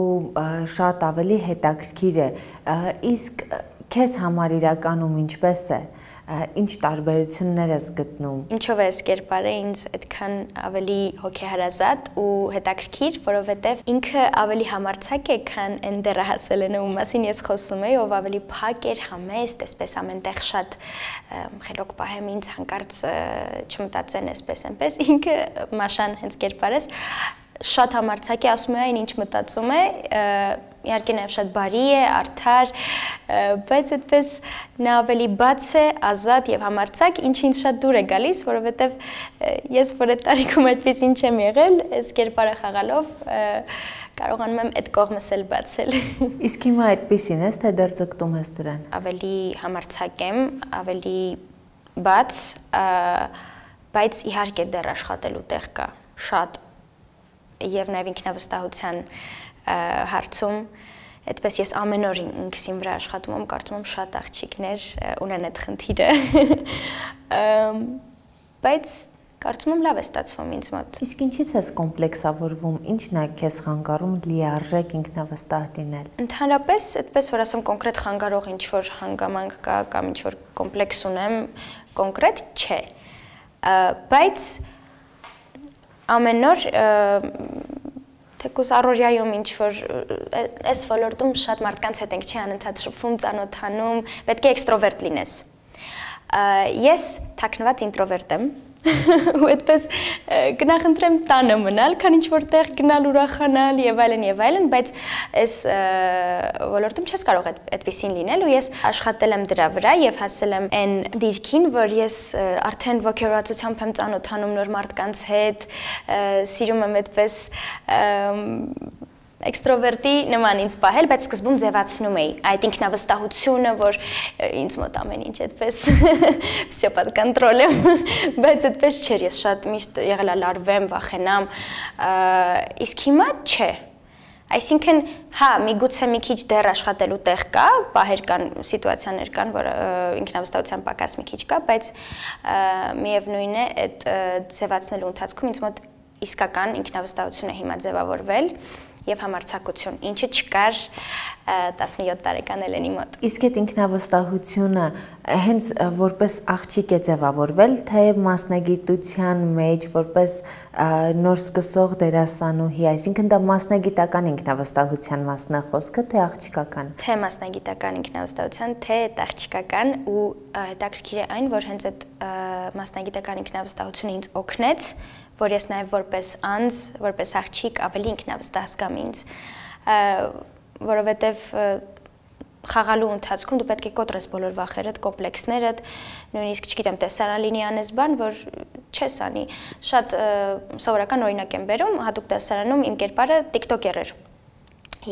շատ ավելի հետաքրքիր է։ Իսկ քեզ համար իրականում ինչպես է։ Ինչ տարբերություններ ես գտնում։ Ինչով է այս կերպարը ինձ այդքան ավելի հոգեհարազատ ու հետաքրքիր, որովհետև ինքը ավելի համարձակ է, քան այն դեռահասելը, ում մասին ես խոսում եի, ով ավելի փակ էր, համեստ, այսպես ամենտեղ շատ խելոք պահեմ ինձ հանկարծ չմտածեն այսպես այնպես։ Ինքը Մաշան հենց կերպարս շատ համարձակ է, ասում է այն ինչ մտածում է, իհարկե նաև շատ բարի է, արդար, բայց այդպես նա ավելի բաց է, ազատ եւ համարձակ, ինչը ինձ շատ դուր է գալիս, որովհետեւ ես որ այդ տարիքում այդպեսին չեմ եղել, այս կերպարը խաղալով կարողանում եմ այդ կողմս էլ բացել։ Իսկ հիմա այդպեսին ես, թե դեռ ձգտում ես դրան։ Ավելի համարձակ եմ, ավելի բաց, բայց իհարկե դեռ աշխատելու տեղ կա, շատ եւ նաեւ ինքնավստահության հարցում այդպես ես ամեն օր ինքսին վրա աշխատում եմ, կարծում եմ շատ աղջիկներ ունեն այդ խնդիրը, բայց կարծում եմ լավ է ստացվում ինձ մոտ։ Իսկ ինչից ես կոմպլեքսավորվում, ինչն է քեզ խանգարում լիարժեք ինքնավստահ լինել։ Ընդհանրապես, այդպես որ ասեմ կոնկրետ խանգարող ինչ-որ հանգամանք կա կամ ինչ-որ կոմպլեքս ունեմ, կոնկրետ չէ, բայց ամեն օր թեկուզ առօրյայում ինչ-որ այս ոլորտում շատ մարդկանց հետ ենք չի անընդհատ շփվում, ծանոթանում, պետք է էքստրովերտ լինես։ Ես թաքնված ինտրովերտ եմ, ու այդպես կնախընտրեմ տանը մնալ, քան ինչ-որ տեղ գնալ ուրախանալ եւ այլն եւ այլն, բայց այս ոլորտում չես կարող այդպեսին լինել ու ես աշխատել եմ դրա վրա եւ հասել եմ այն դիրքին, որ ես արդեն ոգեորացությամբ եմ ծանոթանում նոր մարդկանց հետ, սիրում եմ այդպես էքստրովերտի նման ինձ պահել, բայց սկզբում ձևացնում էի այդ ինքնավստահությունը, որ ինձ մոտ ամեն ինչ այդպես всё под контролем, բայց այդպես չէր, ես շատ միշտ եղել եմ լարվեմ, վախենամ, իսկ հիմա չէ։ Այսինքն, հա, միգուցե մի քիչ դեռ աշխատելու տեղ կա, պահեր կան, սիտուացիաներ կան, որ ինքնավստահության պակաս մի քիչ կա, բայց միևնույն է, այդ ձևացնելու ընթացքում ինձ մոտ իսկական ինքնավստահություն է հիմա ձևավորվել եւ համարձակություն, ինչը չկար տասնյոթ տարեկան Էլենի մոտ։ Իսկ այդ ինքնավստահությունը հենց որպես աղջիկ է ձևավորվել, թե մասնագիտության մեջ որպես նոր սկսող դերասանուհի, այսինքն դա մասնագիտական ինքնավստահության մասն է խոսքը, թե աղջիկական։ Թե մասնագիտական ինքնավստահության, թե աղջիկական ու հետաքրքիր է այն, որ հենց այդ մասնագիտական ինքնավստահությունը ինձ օգնեց, որ ես նաև որպես անձ, որպես աղջիկ ավելի ինքնավստահ զգամ ինձ, որովհետև խաղալու ընթացքում դու պետք է կոտրես բոլոր վախերդ, կոմպլեքսներդ, նույնիսկ չգիտեմ, տեսարան լինի անես բան, որ չես անի։ Շատ սովորական օրինակ եմ բերում, հատուկ տեսարանում իմ կերպարը տիկտոկեր էր։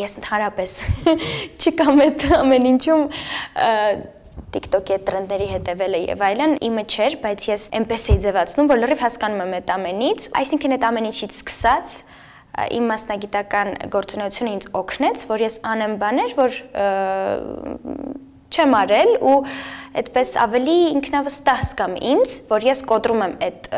Ես ընդհանրապես չկամ այդ ամեն ինչում TikTok-ի տրենդերի հետևելը եւ այլն իմը չէր, բայց ես այնպես էի ձևացնում, որ լրիվ հասկանում եմ այդ ամենից, այսինքն այդ ամեն ինչից սկսած իմ մասնագիտական գործունեությունը ինձ օգնեց, որ ես անեմ բաներ, որ չեմ արել ու այդպես ավելի ինքնավստահ զգամ ինձ, որ ես կոտրում եմ այդ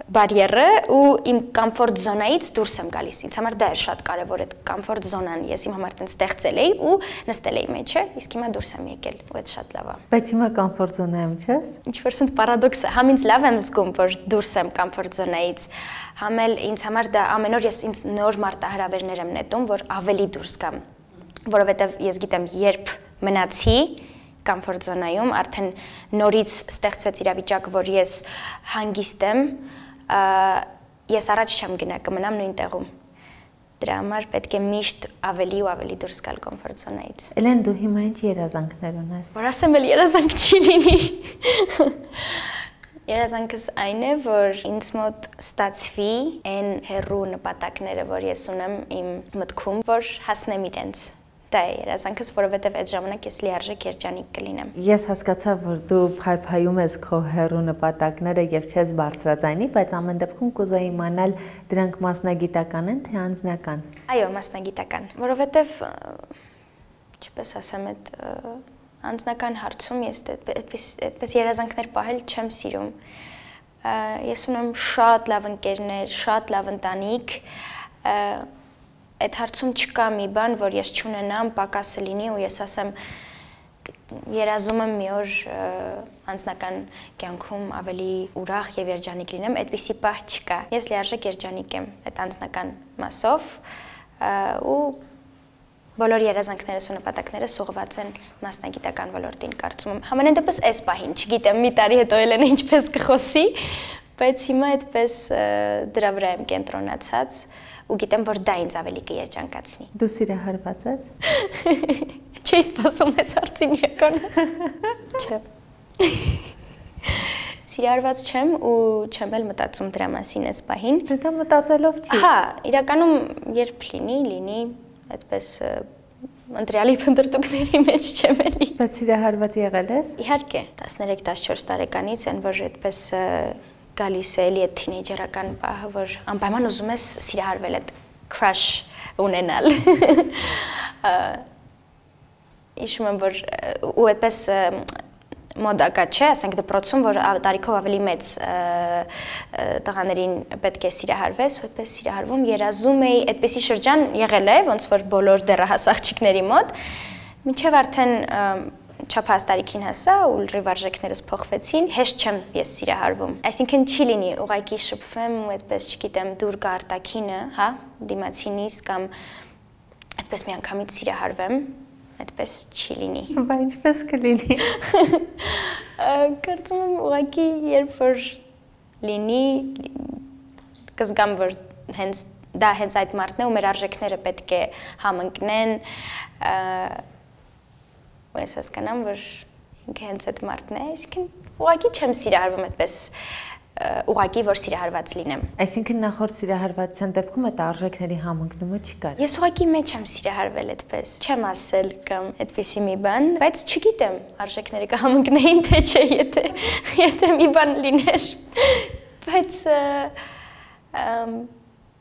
բարիերը ու իմ կոմֆորտ զոնայից դուրս եմ գալիս։ Ինձ համար դա է շատ կարևոր այդ կոմֆորտ զոնան, ես իմ համար տենց ստեղծել էի ու նստել էի մեջը, իսկ հիմա դուրս եմ եկել ու այդ շատ լավ է։ Բայց հիմա կոմֆորտ զոնայում չես։ Ինչ-որ sense պարադոքս է, համ ինձ լավ եմ զգում, որ դուրս եմ կոմֆորտ զոնայից, համ էլ ինձ համար դա ամեն օր ես ինձ նոր մարտահրավերներ եմ նետում, որ ավելի դուրս գամ, որովհետև ես գիտեմ, երբ մնացի կոմֆորտ զոնայում, արդեն նորից ստեղծվեց իրավիճակ, որ ես հանգիստ եմ, ես առաջ չեմ գնա, կմնամ նույն տեղում։ Դրա համար պետք է միշտ ավելի ու ավելի դուրս գալ կոմֆորտ զոնայից։ Էլեն, դու հիմա ինչ երազանքներ ունես։ Որ ասեմ, էլ երազանք չի լինի։ Երազանքս այն է, որ ինձ մոտ ստացվի այն հեռու նպատակները, որ ես ունեմ իմ մտքում, որ հասնեմ իրենց։ դա է երազանքս, որովհետև այդ ժամանակ ես լիարժեք երջանիկ կլինեմ։ Ես հասկացա, որ դու փայփայում ես քո հեռու նպատակները եւ չես բարձրաձայնի, բայց ամեն դեպքում կուզեի իմանալ դրանք մասնագիտական են թե անձնական։ Այո, մասնագիտական, որովհետև ինչպես ասեմ, այդ անձնական հարցում ես այդպես այդպես երազանքներ պահել չեմ սիրում։ Ես ունեմ շատ լավ ընկերներ, շատ լավ ընտանիք, այդ հարցում չկա մի բան, որ ես չունենամ, պակասը լինի ու ես ասեմ երազում եմ մի օր անձնական կյանքում ավելի ուրախ եւ երջանիկ լինեմ, այդպիսի պահ չկա։ Ես լիարժեք երջանիկ եմ այդ անձնական մասով ու բոլոր երազանքներս ու նպատակներս ուղղված են մասնագիտական ոլորտին, կարծում եմ։ Համենայն դեպս այս պահին, չգիտեմ, մի տարի հետո Էլենը ինչպես կխոսի, բայց հիմա այդպես դրա վրա եմ կենտրոնացած ու գիտեմ, որ դա ինձ ավելի կերջանկացնի։ Դու սիրահարված ես։ Չէի սպասում այս հարցին իրականում։ Չէ։ Սիրահարված չեմ ու չեմ էլ մտածում դրա մասին այս պահին։ Դե դա մտածելով չի։ Հա, իրականում երբ լինի, լինի, այդպես ընտրյալի փնտրտուքների մեջ չեմ էլի։ Բայց սիրահարված եղել ես։ Իհարկե, տասներեք տասնչորս տարեկանից են, որ այդպես գալիս է էլի այդ թինեյջերական պահը, որ անպայման ուզում ես սիրահարվել, այդ crush ունենալ։ Հիշում եմ, որ ու այդպես մոդակա չէ, ասենք դպրոցում, որ տարիքով ավելի մեծ տղաներին պետք է սիրահարվես, ու այդպես սիրահարվում, երազում էի, այդպեսի շրջան եղել է, ոնց որ բոլոր դեռահաս աղջիկների մոտ, մինչև արդեն չափահաս տարիքին հասա ու լրիվ արժեքներս փոխվեցին, հեշտ չեմ ես սիրահարվում։ Այսինքն չի լինի, ուղղակի շփվեմ ու այդպես, չգիտեմ, դուր գա արտաքինը, հա, դիմացինիս կամ այդպես մի անգամից սիրահարվեմ, այդպես չի լինի։ Բա ինչպես կլինի։ Կարծում եմ ուղղակի երբ որ լինի, կզգամ, որ հենց դա հենց այդ մարդն է ու մեր արժեքները պետք է համընկնեն, ու ես հասկանամ, որ ինքը հենց այդ մարդն է, այսինքն ուղղակի չեմ սիրահարվում այդպես ուղղակի, որ սիրահարված լինեմ։ Այսինքն նախորդ սիրահարվածության դեպքում այդ արժեքների համընկնումը չկար։ Ես ուղղակի մեջ եմ սիրահարվել այդպես, չեմ ասել կամ այդպիսի մի բան, բայց չգիտեմ արժեքները կհամընկնեին թե չէ, եթե եթե մի բան լիներ։ Բայց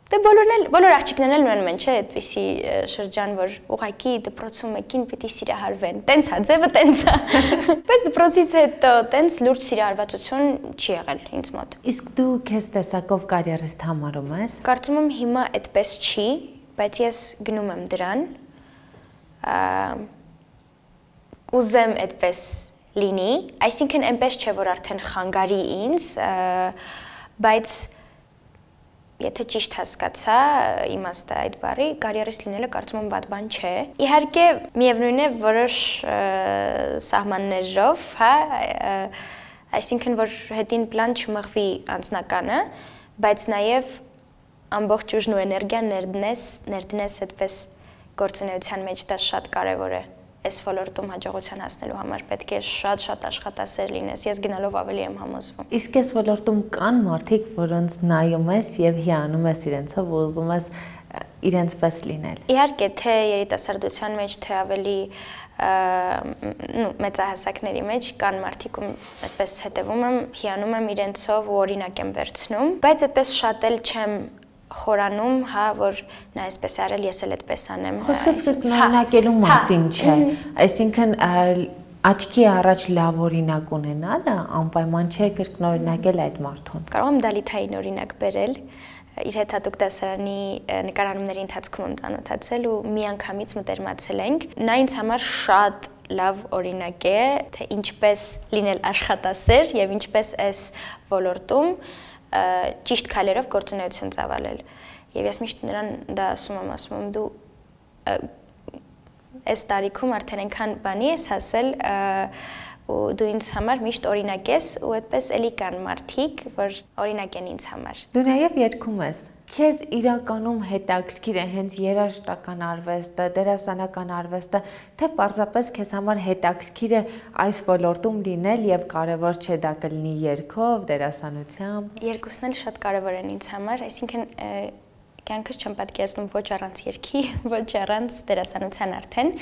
դե բոլորն էլ բոլոր աղջիկներն էլ ունեն մեն, չէ, այդպիսի շրջան, որ ուղղակի դպրոցում մեկին պիտի սիրահարվեն։ Տենց է, ձևը տենց է։ Բայց դպրոցից հետո տենց լուրջ սիրահարվածություն չի եղել ինձ մոտ։ Իսկ դու քեզ տեսակով կարիերիստ համարում ես։ Կարծում եմ հիմա այդպես չի, բայց ես գնում եմ դրան։ Ուզեմ այդպես լինի, այսինքն այնպես չէ, որ արդեն խանգարի ինձ, բայց եթե ճիշտ հասկացա իմաստը այդ բառի, կարիերիստ լինելը կարծում եմ վատ բան չէ։ Իհարկե, միևնույն է որոշ սահմաններով, հա, այսինքն որ հետին պլան չմղվի անձնականը, բայց նաև ամբողջ ուժն ու էներգիան ներդնես, ներդնես այդպես գործունեության մեջ, դա շատ կարևոր է։ Այս ոլորտում հաջողության հասնելու համար պետք է շատ-շատ աշխատասեր լինես։ Ես գնալով ավելի եմ համոզվում։ Իսկ այս ոլորտում կան մարդիկ, որոնց նայում ես եւ հիանում ես իրենցով ու ուզում ես իրենց պես լինել։ Իհարկե, թե երիտասարդության մեջ, թե ավելի նո մեծահասակների մեջ կան մարդիկ, ում այդպես հետևում եմ, հիանում եմ իրենցով ու օրինակ եմ վերցնում, բայց այդպես շատ էլ չեմ խորանում, հա, որ նա այսպես արել, ես էլ այդպես անեմ։ Խոսքս կրկնօրինակելու մասին չէ, այսինքն աչքի առաջ լավ օրինակ ունենալը անպայման չէ կրկնօրինակել այդ մարդուն։ Կարող եմ դալիթային օրինակ բերել, իր հետ հատուկ դասարանի նկարահանումների ընթացքում եմ ծանոթացել ու մի անգամից մտերմացել ենք։ Նա ինձ համար շատ լավ օրինակ է, թե ինչպես լինել աշխատասեր եւ ինչպես այս ոլորտում ճիշտ քայլերով գործունեություն ծավալել։ Եվ ես միշտ նրան դա ասում եմ, ասում եմ դու այս տարիքում արդեն այնքան բանի ես հասել ու դու ինձ համար միշտ օրինակ ես ու այդպես էլի կան մարդիկ, որ օրինակ են ինձ համար։ Դու նաև երգում ես։ Քեզ իրականում հետաքրքիր է հենց երաժշտական արվեստը, դերասանական արվեստը, թե պարզապես քեզ համար հետաքրքիր է այս ոլորտում լինել եւ կարեւոր չէ դա կլինի երգով, դերասանությամբ։ Երկուսն էլ շատ կարեւոր են ինձ համար, այսինքն կյանքս չեմ պատկերացնում ոչ առանց երգի, ոչ առանց դերասանության արդեն։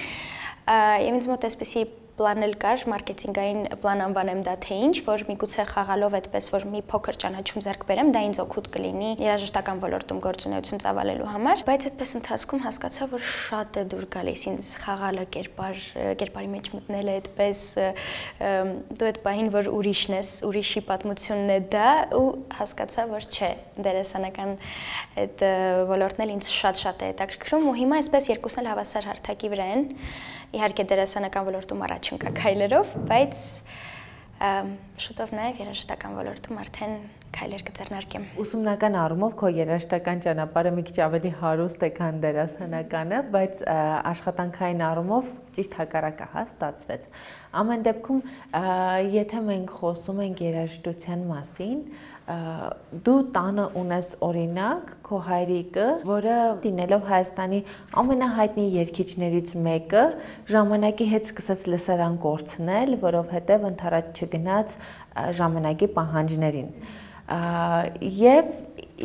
Եվ ինձ մոտ էսպիսի պլանել կար, մարքեթինգային պլան անվանեմ դա թե ինչ, որ միգուցե խաղալով այդպես, որ մի փոքր ճանաչում ձեռք բերեմ, դա ինձ օգուտ կլինի երաժշտական ոլորտում գործունեություն ծավալելու համար, բայց այդպես ընթացքում հասկացա, որ շատ է դուր գալիս ինձ խաղալը, կերպար, կերպարի մեջ մտնելը այդպես, դու այդ պահին, որ ուրիշն ես, ուրիշի պատմությունն է դա, ու հասկացա, որ չէ, դերասանական այդ ոլորտն էլ ինձ շատ-շատ է հետաքրքրում, ու հիմա այսպես երկուսն էլ հավասար հարթակի վրա են, իհարկե դերասանական ոլորտում առաջ ընկա քայլերով, բայց շուտով նաև երաժշտական ոլորտում արդեն քայլեր կձեռնարկեմ։ Ուսումնական առումով քո երաժշտական ճանապարհը մի քիչ ավելի հարուստ է, քան դերասանականը, բայց աշխատանքային առումով ճիշտ հակառակը հա ստացվեց։ Ամեն դեպքում, եթե մենք խոսում ենք երաժշտության մասին, դու տանը ունես օրինակ քո հայրիկը, որը լինելով Հայաստանի ամենահայտնի երգիչներից մեկը, ժամանակի հետ սկսեց լսարան կորցնել, որովհետև ընդառաջ չգնաց ժամանակի պահանջներին։ Եվ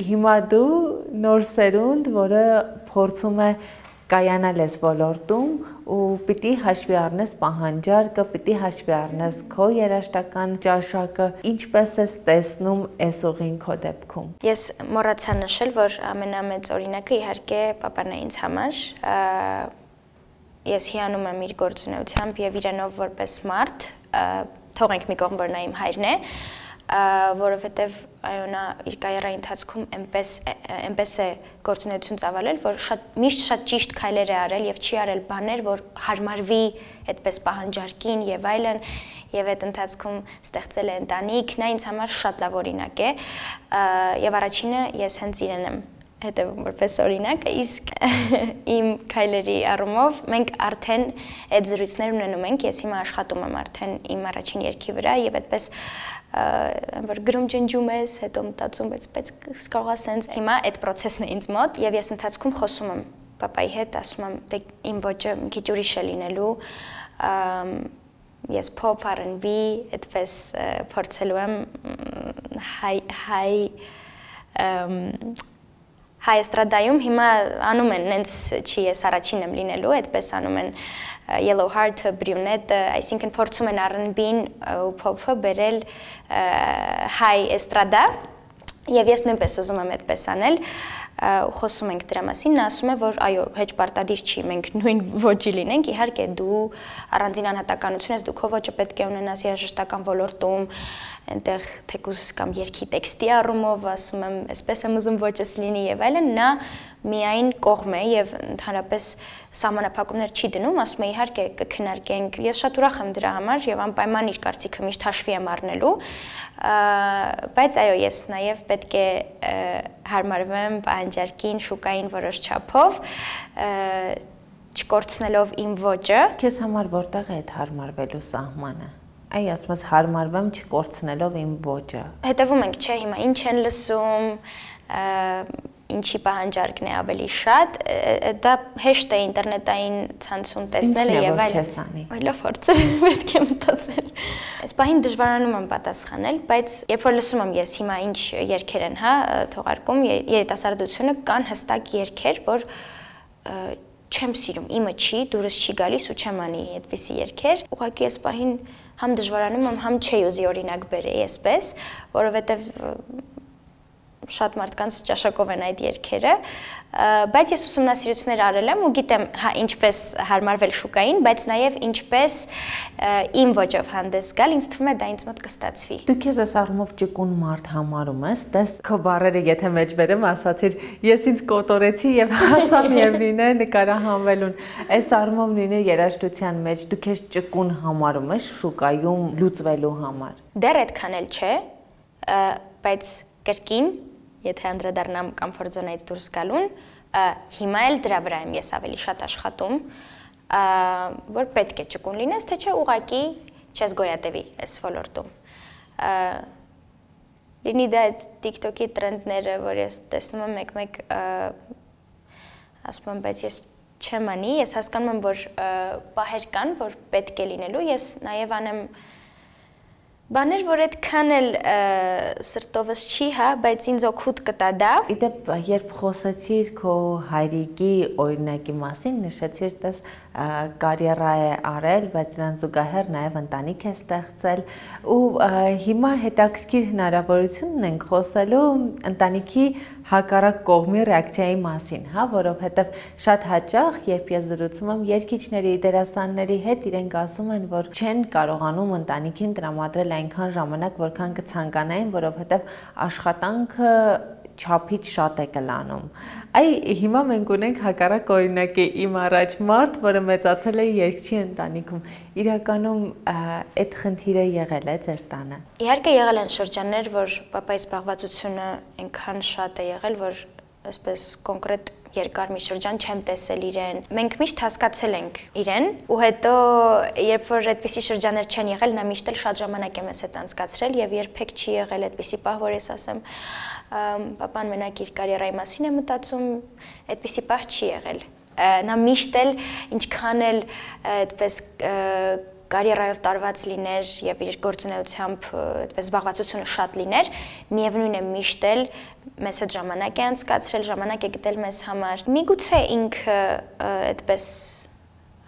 հիմա դու նոր սերունդ, որը փորձում է կայանալ ես ոլորտում ու պիտի հաշվի առնես պահանջարկը, պիտի հաշվի առնես քո երաժշտական ճաշակը, ինչպես ես տեսնում այս ուղին քո դեպքում։ Ես մոռացա նշել, որ ամենամեծ օրինակը իհարկե պապան է ինձ համար։ Ես հիանում եմ իր գործունեությամբ եւ իրանով որպես մարդ, թողենք մի կողմ, որ նա իմ հայրն է, որովհետև այո նա իր կարիերայի ընթացքում այնպես այնպես է գործունեություն ծավալել, որ շատ միշտ շատ ճիշտ քայլեր է արել եւ չի արել բաներ, որ հարմարվի այդպես պահանջարկին եւ այլն, եւ այդ ընթացքում ստեղծել է ընտանիք, նա ինձ համար շատ լավ օրինակ է, եւ առաջինը ես հենց իրեն եմ հետևում որպես օրինակ, իսկ իմ քայլերի առումով մենք արդեն այդ զրույցներ ունենում ենք, ես հիմա աշխատում եմ արդեն իմ առաջին երգի վրա եւ այդպես որ գրում ջնջում ես, հետո մտածում, բայց բայց կարող է սենց հիմա այդ process-ն է ինձ մոտ եւ ես ընթացքում խոսում եմ պապայի հետ, ասում եմ, դե իմ ոճը մի քիչ ուրիշ է լինելու, ես pop, R and B, այդպես փորձելու եմ հայ հայ հայ էստրադայում հիմա անում են, նենց չի ես առաջին եմ լինելու, այդպես անում են Yellow Heart, Brunette, այսինքն փորձում են R and B-ն ու pop-ը բերել հայ էստրադա, եւ ես նույնպես ուզում եմ այդպես անել, ու խոսում ենք դրա մասին, նա ասում է, որ այո, հեչ պարտադիր չի, մենք նույն ոճի լինենք, իհարկե դու առանձին անհատականություն ես, դու քո ոճը պետք է ունենաս երաժշտական ոլորտում, այնտեղ թեկուզ կամ երգի տեքստի առումով, ասում եմ, այսպես եմ ուզում ոճս լինի եւ այլն, նա միայն կողմ է եւ ընդհանրապես սահմանափակումներ չի դնում, ասում է իհարկե կքննարկենք, ես շատ ուրախ եմ դրա համար եւ անպայման իր կարծիքը միշտ հաշվի եմ առնելու, բայց այո, ես նաեւ պետք է հարմարվեմ պահանջարկին, շուկային որոշ չափով, չկորցնելով իմ ոճը։ Քեզ համար որտեղ է այդ հարմարվելու սահմանը։ Այ ասում ես հարմարվեմ չկորցնելով իմ ոճը։ Հետևում ենք, չէ, հիմա ինչ են լսում, ինչի պահանջարկն է ավելի շատ, դա հեշտ է ինտերնետային ցանցում տեսնելը եւ այլն։ Այլով փորձել պետք է մտածել։ Այս պահին դժվարանում եմ պատասխանել, բայց երբ որ լսում եմ ես հիմա ինչ երգեր են, հա, թողարկում երիտասարդությունը, կան հստակ երգեր, որ չեմ սիրում, իմը չի, դուրս չի գալիս ու չեմ անի այդպիսի երգեր։ Ուղղակի այս պահին համ դժվարանում եմ, համ չի ուզի օրինակ բերեի այսպես, որովհետեւ շատ մարդկանց ճաշակով են այդ երգերը, բայց ես ուսումնասիրություններ արել եմ ու գիտեմ ինչպես հարմարվել շուկային, բայց նաև ինչպես իմ ոճով հանդես գալ, ինձ թվում է դա ինձ մոտ կստացվի։ Դու քեզ այս առումով ճկուն մարդ համարում ես, տես քո բառերը եթե մեջ բերեմ, ասացիր, ես ինձ կոտորեցի եւ հասա միևնույն է նկարահանվելուն։ Այս առումով նույնը երաժշտության մեջ դու քեզ ճկուն համարում ես շուկայում լուծվելու համար։ Դեռ այդքան էլ չէ, բայց կրկին եթե անդրադառնամ կոմֆորտ զոնայից դուրս գալուն, հիմա էլ դրա վրա եմ ես ավելի շատ աշխատում, որ պետք է ճկուն լինես, թե չէ ուղղակի չես գոյատևի այս ոլորտում։ Լինի դա այդ TikTok-ի տրենդները, որ ես տեսնում եմ մեկ-մեկ ասում եմ, բայց ես չեմ անի, ես հասկանում եմ, որ պահեր կան, որ պետք է լինելու, ես նաև անեմ Բաներ, որ այդքան էլ սրտովս չի, հա, բայց ինձ օգուտ կտա դա։ Իդեպ, երբ խոսեցիր քո հայրիկի օրինակի մասին, նշեցիր, տես կարիերա է արել, բայց նրան զուգահեռ նաև ընտանիք է ստեղծել ու հիմա հետաքրքիր հնարավորություն ունենք խոսելու ընտանիքի հակառակ կողմի ռեակցիայի մասին, հա, որովհետև շատ հաճախ, երբ ես զրուցում եմ երգիչների, դերասանների հետ, իրենք ասում են, որ չեն կարողանում ընտանիքին տրամադրել այնքան ժամանակ, որքան կցանկանային, որովհետև աշխատանքը չափից շատ է կլանում։ Այ հիմա մենք ունենք հակառակ օրինակի իմ առաջ մարդ, որը մեծացել է երգչի ընտանիքում։ Իրականում այդ խնդիրը եղել է ձեր տանը։ Իհարկե եղել են շրջաններ, որ պապայի զբաղվածությունը այնքան շատ է եղել, որ այսպես կոնկրետ երկար մի շրջան չեմ տեսել իրեն։ Մենք միշտ հասկացել ենք իրեն, ու հետո երբ որ այդպիսի շրջաններ չեն եղել, նա միշտ էլ շատ ժամանակ է մեզ հետ անցկացրել եւ երբեք չի եղել այդպիսի պահ, որ ես ասեմ, պապան մենակ իր կարիերայի մասին է մտածում, այդպիսի պահ չի եղել։ Նա միշտ էլ ինչքան էլ այդպես կարիերայով տարված լիներ եւ իր գործունեությամբ այդպես զբաղվածությունը շատ լիներ, միևնույն է միշտ էլ մեզ հետ ժամանակ է անցկացրել, ժամանակ է գտել մեզ համար։ Միգուցե ինքը այդպես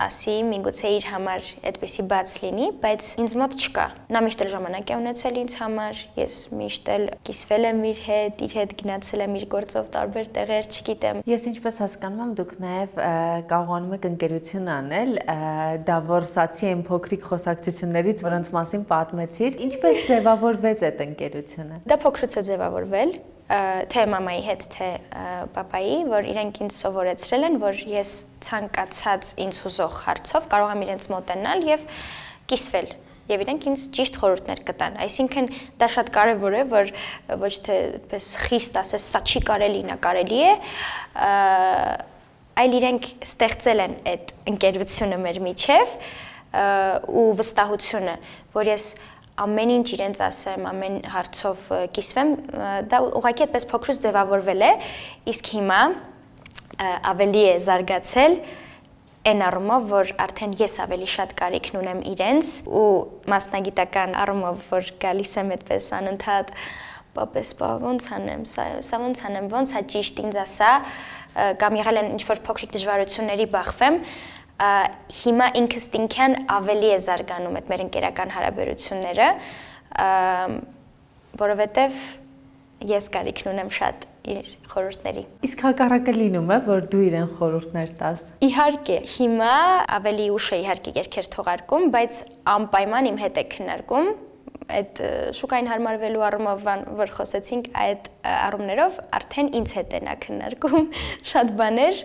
ասի, միգուցե իր համար այդպեսի բաց լինի, բայց ինձ մոտ չկա։ Նա միշտ էլ ժամանակ է ունեցել ինձ համար, ես միշտ էլ կիսվել եմ իր հետ, իր հետ գնացել եմ իր գործով տարբեր տեղեր, չգիտեմ։ Ես ինչպես հասկանում եմ, դուք նաև կարողանում եք ընկերություն անել, դա որսացի այն փոքրիկ խոսակցություններից, որոնց մասին պատմեցիր, ինչպես ձևավորվեց այդ ընկերությունը։ Դա փոքրուց է ձևավորվել, թե մամայի հետ, թե պապայի, որ իրենք ինձ սովորեցրել են, որ ես ցանկացած ինձ հուզող հարցով կարող եմ իրենց մոտենալ եւ կիսվել, եւ իրենք ինձ ճիշտ խորհուրդներ կտան։ Այսինքն դա շատ կարեւոր է, որ ոչ թե այդպես խիստ ասես, սա չի կարելի, նա կարելի է, այլ իրենք ստեղծել են այդ ընկերությունը մեր միջև ու վստահությունը, որ ես ամեն ինչ իրենց ասեմ, ամեն հարցով կիսվեմ, դա ուղղակի այդպես փոքրուց ձևավորվել է, իսկ հիմա ավելի է զարգացել այն առումով, որ արդեն ես ավելի շատ կարիքն ունեմ իրենց ու մասնագիտական առումով, որ գալիս եմ այդպես անընդհատ, պապես, պա, ոնց անեմ, սա ոնց անեմ, ոնց հա ճիշտ ինձ ասա, կամ եղել են ինչ-որ փոքրիկ դժվարությունների բախվեմ, հիմա ինքստինքյան ավելի է զարգանում այդ մեր ընկերական հարաբերությունները, որովհետև ես կարիքն ունեմ շատ իր խորհուրդների։ Իսկ հակառակը լինում է, որ դու իրեն խորհուրդներ տաս։ Իհարկե, հիմա ավելի ուշ է իհարկե երգեր թողարկում, բայց անպայման իմ հետ է քննարկում, այդ շուկային հարմարվելու առումով, որ խոսեցինք, այդ առումներով արդեն ինձ հետ է նա քննարկում շատ բաներ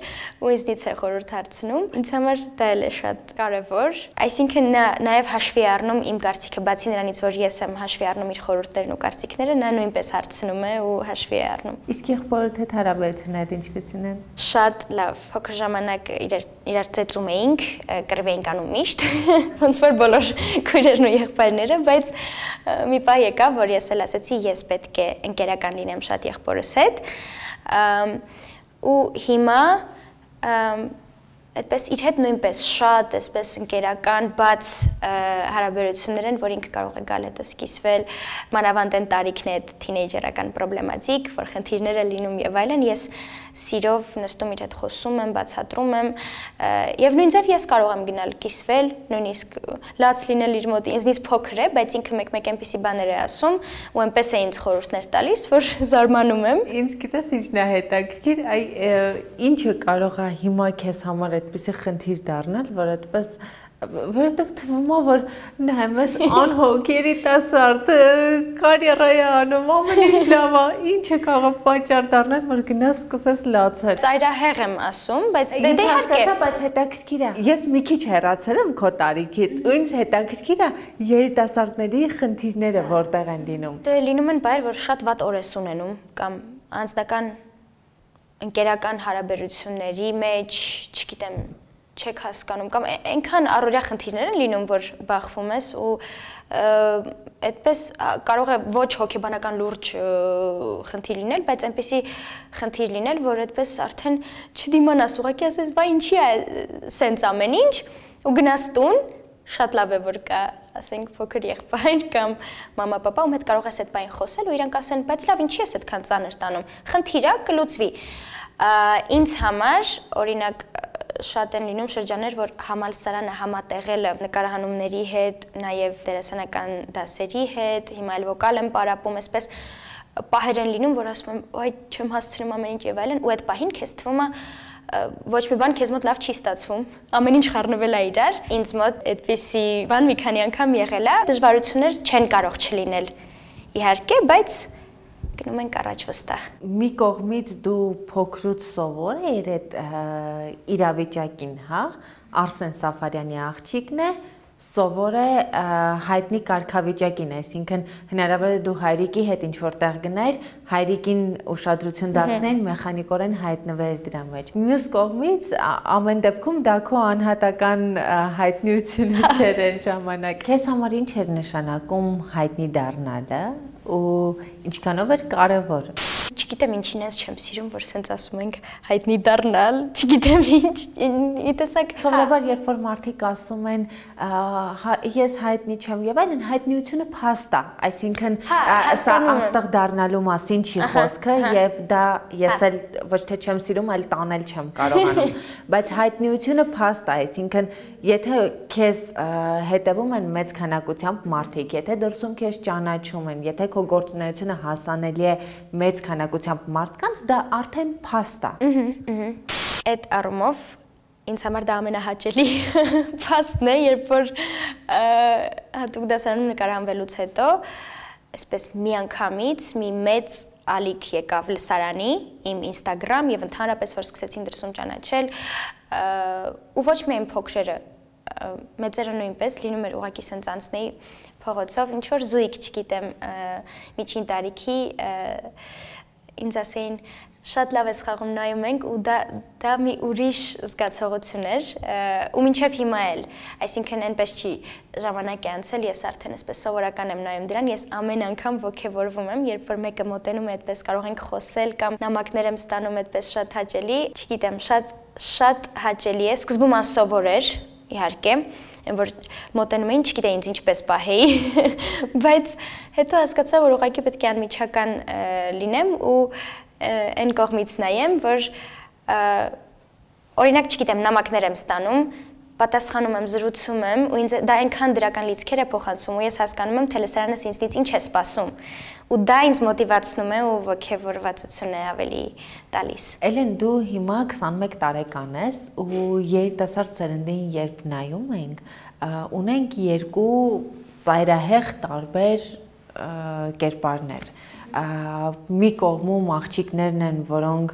ու ինձնից է խորհուրդ հարցնում։ Ինձ համար դա էլ է շատ կարևոր, այսինքն նա նաև հաշվի է առնում իմ կարծիքը, բացի նրանից, որ ես եմ հաշվի առնում իր խորհուրդներն ու կարծիքները, նա նույնպես հարցնում է ու հաշվի է առնում։ Իսկ եղբորդ հետ հարաբերությունները ինչպիսին են։ Շատ լավ, փոքր ժամանակ իրար ծեծում էինք, կռվի էինք անում միշտ, ոնց որ բոլոր քույրերն ու եղբայրները, բայց մի պահ եկավ, որ ես էլ ասեցի, ես պետք է ընկերական լինեմ շատ եղբորս հետ ու հիմա այդպես իր հետ նույնպես շատ այսպես ընկերական բաց հարաբերություններ են, որ ինքը կարող է գալ հետս կիսվել, մանավանդ այն տարիքն է այդ թինեյջերական պրոբլեմատիկ, որ խնդիրներ է լինում եւ այլն, ես սիրով նստում իր հետ խոսում եմ, բացատրում եմ եւ նույնիսկ ես կարող եմ գնալ կիսվել, նույնիսկ լաց լինել իր մոտ, ինձնից փոքր է, բայց ինքը մեկ-մեկ այնպիսի բաներ է ասում ու այնպես է ինձ խորհուրդներ տալիս, որ զարմանում եմ։ Ինձ գիտես ինչն է հետաքրքիր, այ ինչը կարող է հիմա քեզ համար այդպիսի խնդիր դառնալ, որ այդպես որովհետև թվում է, որ նայում ես անհոգ երիտասարդ, կարիերայի անում, ամեն ինչ լավ է, ինչ է կարող պատճառ դառնալ, որ գնաս սկսես լացել։ Ծայրահեղ եմ ասում, բայց դե իհարկե, բայց հետաքրքիր է։ Ես մի քիչ հեռացել եմ քո տարիքից, ու ինձ հետաքրքիր է երիտասարդների խնդիրները որտեղ են լինում։ Դե լինում են բայր, որ շատ վատ օր ես ունենում կամ անձնական ընկերական հարաբերությունների մեջ, չգիտեմ, չեք հասկանում կամ այնքան առօրյա խնդիրներ են լինում, որ բախվում ես ու այդպես կարող է ոչ հոգեբանական լուրջ խնդիր լինել, բայց այնպեսի խնդիր լինել, որ այդպես արդեն չդիմանաս, ուղղակի ասես, բայ ինչի է սենց ամեն ինչ ու գնաս տուն, շատ լավ է որ կա ասենք փոքր եղբայր կամ մամա-պապա, ում հետ կարող ես այդ բանը խոսել ու իրանք ասեն, բայց լավ, ինչի ես այդքան ծանր տանում։ Խնդիր է, կլուծվի։ Ինձ համար, օրինակ, շատ են լինում շրջաններ, որ համալսարանը համատեղել է նկարահանումների հետ, նաև դերասանական դասերի հետ, հիմա էլ վոկալ եմ պարապում, այսպես պահեր են լինում, որ ասում եմ, այ չեմ հասցնում ամեն ինչ եւ այլն, ու այդ պահին քեզ թվում է ոչ մի բան քեզ մոտ լավ չի ստացվում, ամեն ինչ խառնվել է իրար, ինձ մոտ այդպիսի բան մի քանի անգամ եղել է, դժվարություններ չեն կարող չլինել, իհարկե, բայց գնում ենք առաջ վստահ։ Մի կողմից դու փոքրուց սովոր ես այդ իրավիճակին, հա, Արսեն Սաֆարյանի աղջիկն է, սովոր է հայտնի կարգավիճակին, այսինքն հնարավոր է դու հայրիկի հետ ինչ-որ տեղ գնայր, հայրիկին ուշադրություն դարձնեին, մեխանիկորեն հայտնվեր դրա մեջ։ Մյուս կողմից ամեն դեպքում դա քո անհատական հայտնիությունը չէր այն ժամանակ։ Քեզ համար ինչ էր նշանակում հայտնի դառնալը ու ինչքանով էր կարևոր։ Չգիտեմ ինչին ես չեմ սիրում, որ սենց ասում ենք հայտնի դառնալ, չգիտեմ ինչ, մի տեսակ սովորաբար երբ որ մարդիկ ասում են ես հայտնի չեմ եւ այլն, հայտնիությունը փաստ է, այսինքն սա աստղ դառնալու մասին չի խոսքը եւ դա ես էլ ոչ թե չեմ սիրում, այլ տանել չեմ կարողանում, բայց հայտնիությունը փաստ է, այսինքն եթե քեզ հետևում են մեծ քանակությամբ մարդիկ, եթե դրսում քեզ ճանաչում են, եթե քո գործունեությունը հասանելի է մեծ քանակությամբ մարդկանց, դա արդեն փաստ է։ Այդ առումով ինձ համար դա ամենահաճելի փաստն է, երբ որ հատուկ դասարանում նկարահանվելուց հետո այսպես մի անգամից մի մեծ ալիք եկավ լսարանի, իմ Instagram եւ ընդհանրապես որ սկսեցին դրսում ճանաչել ու ոչ միայն փոքրերը, մեծերը նույնպես լինում էր ուղղակի սենց անցնեի փողոցով, ինչ որ զույգ, չգիտեմ, միջին տարիքի ինձ ասեին շատ լավ ես խաղում նայում ենք ու դա դա մի ուրիշ զգացողություն էր ու մինչև հիմա էլ, այսինքն այնպես չի ժամանակ է անցել, ես արդեն այսպես սովորական եմ նայում դրան, ես ամեն անգամ ոգևորվում եմ, երբ որ մեկը մոտենում է այդպես կարող ենք խոսել կամ նամակներ եմ ստանում այդպես շատ հաճելի, չգիտեմ, շատ շատ հաճելի է, սկզբում անսովոր էր, իհարկե, որ մոտենում էին, չգիտեի ինձ ինչպես պահեի, բայց հետո հասկացա, որ ուղղակի պետք է անմիջական լինեմ ու այն կողմից նայեմ, որ օրինակ, չգիտեմ, նամակներ եմ ստանում, պատասխանում եմ, զրուցում եմ ու ինձ դա այնքան դրական լիցքեր է փոխանցում ու ես հասկանում եմ, թե լսարանս ինձնից ինչ է սպասում ու դա ինձ մոտիվացնում է ու ոգևորվածություն է ավելի տալիս։ Էլեն, դու հիմա քսանմեկ տարեկան ես ու երիտասարդ սերնդին երբ նայում ենք, ունենք երկու ծայրահեղ տարբեր կերպարներ։ Մի կողմում աղջիկներն են, որոնք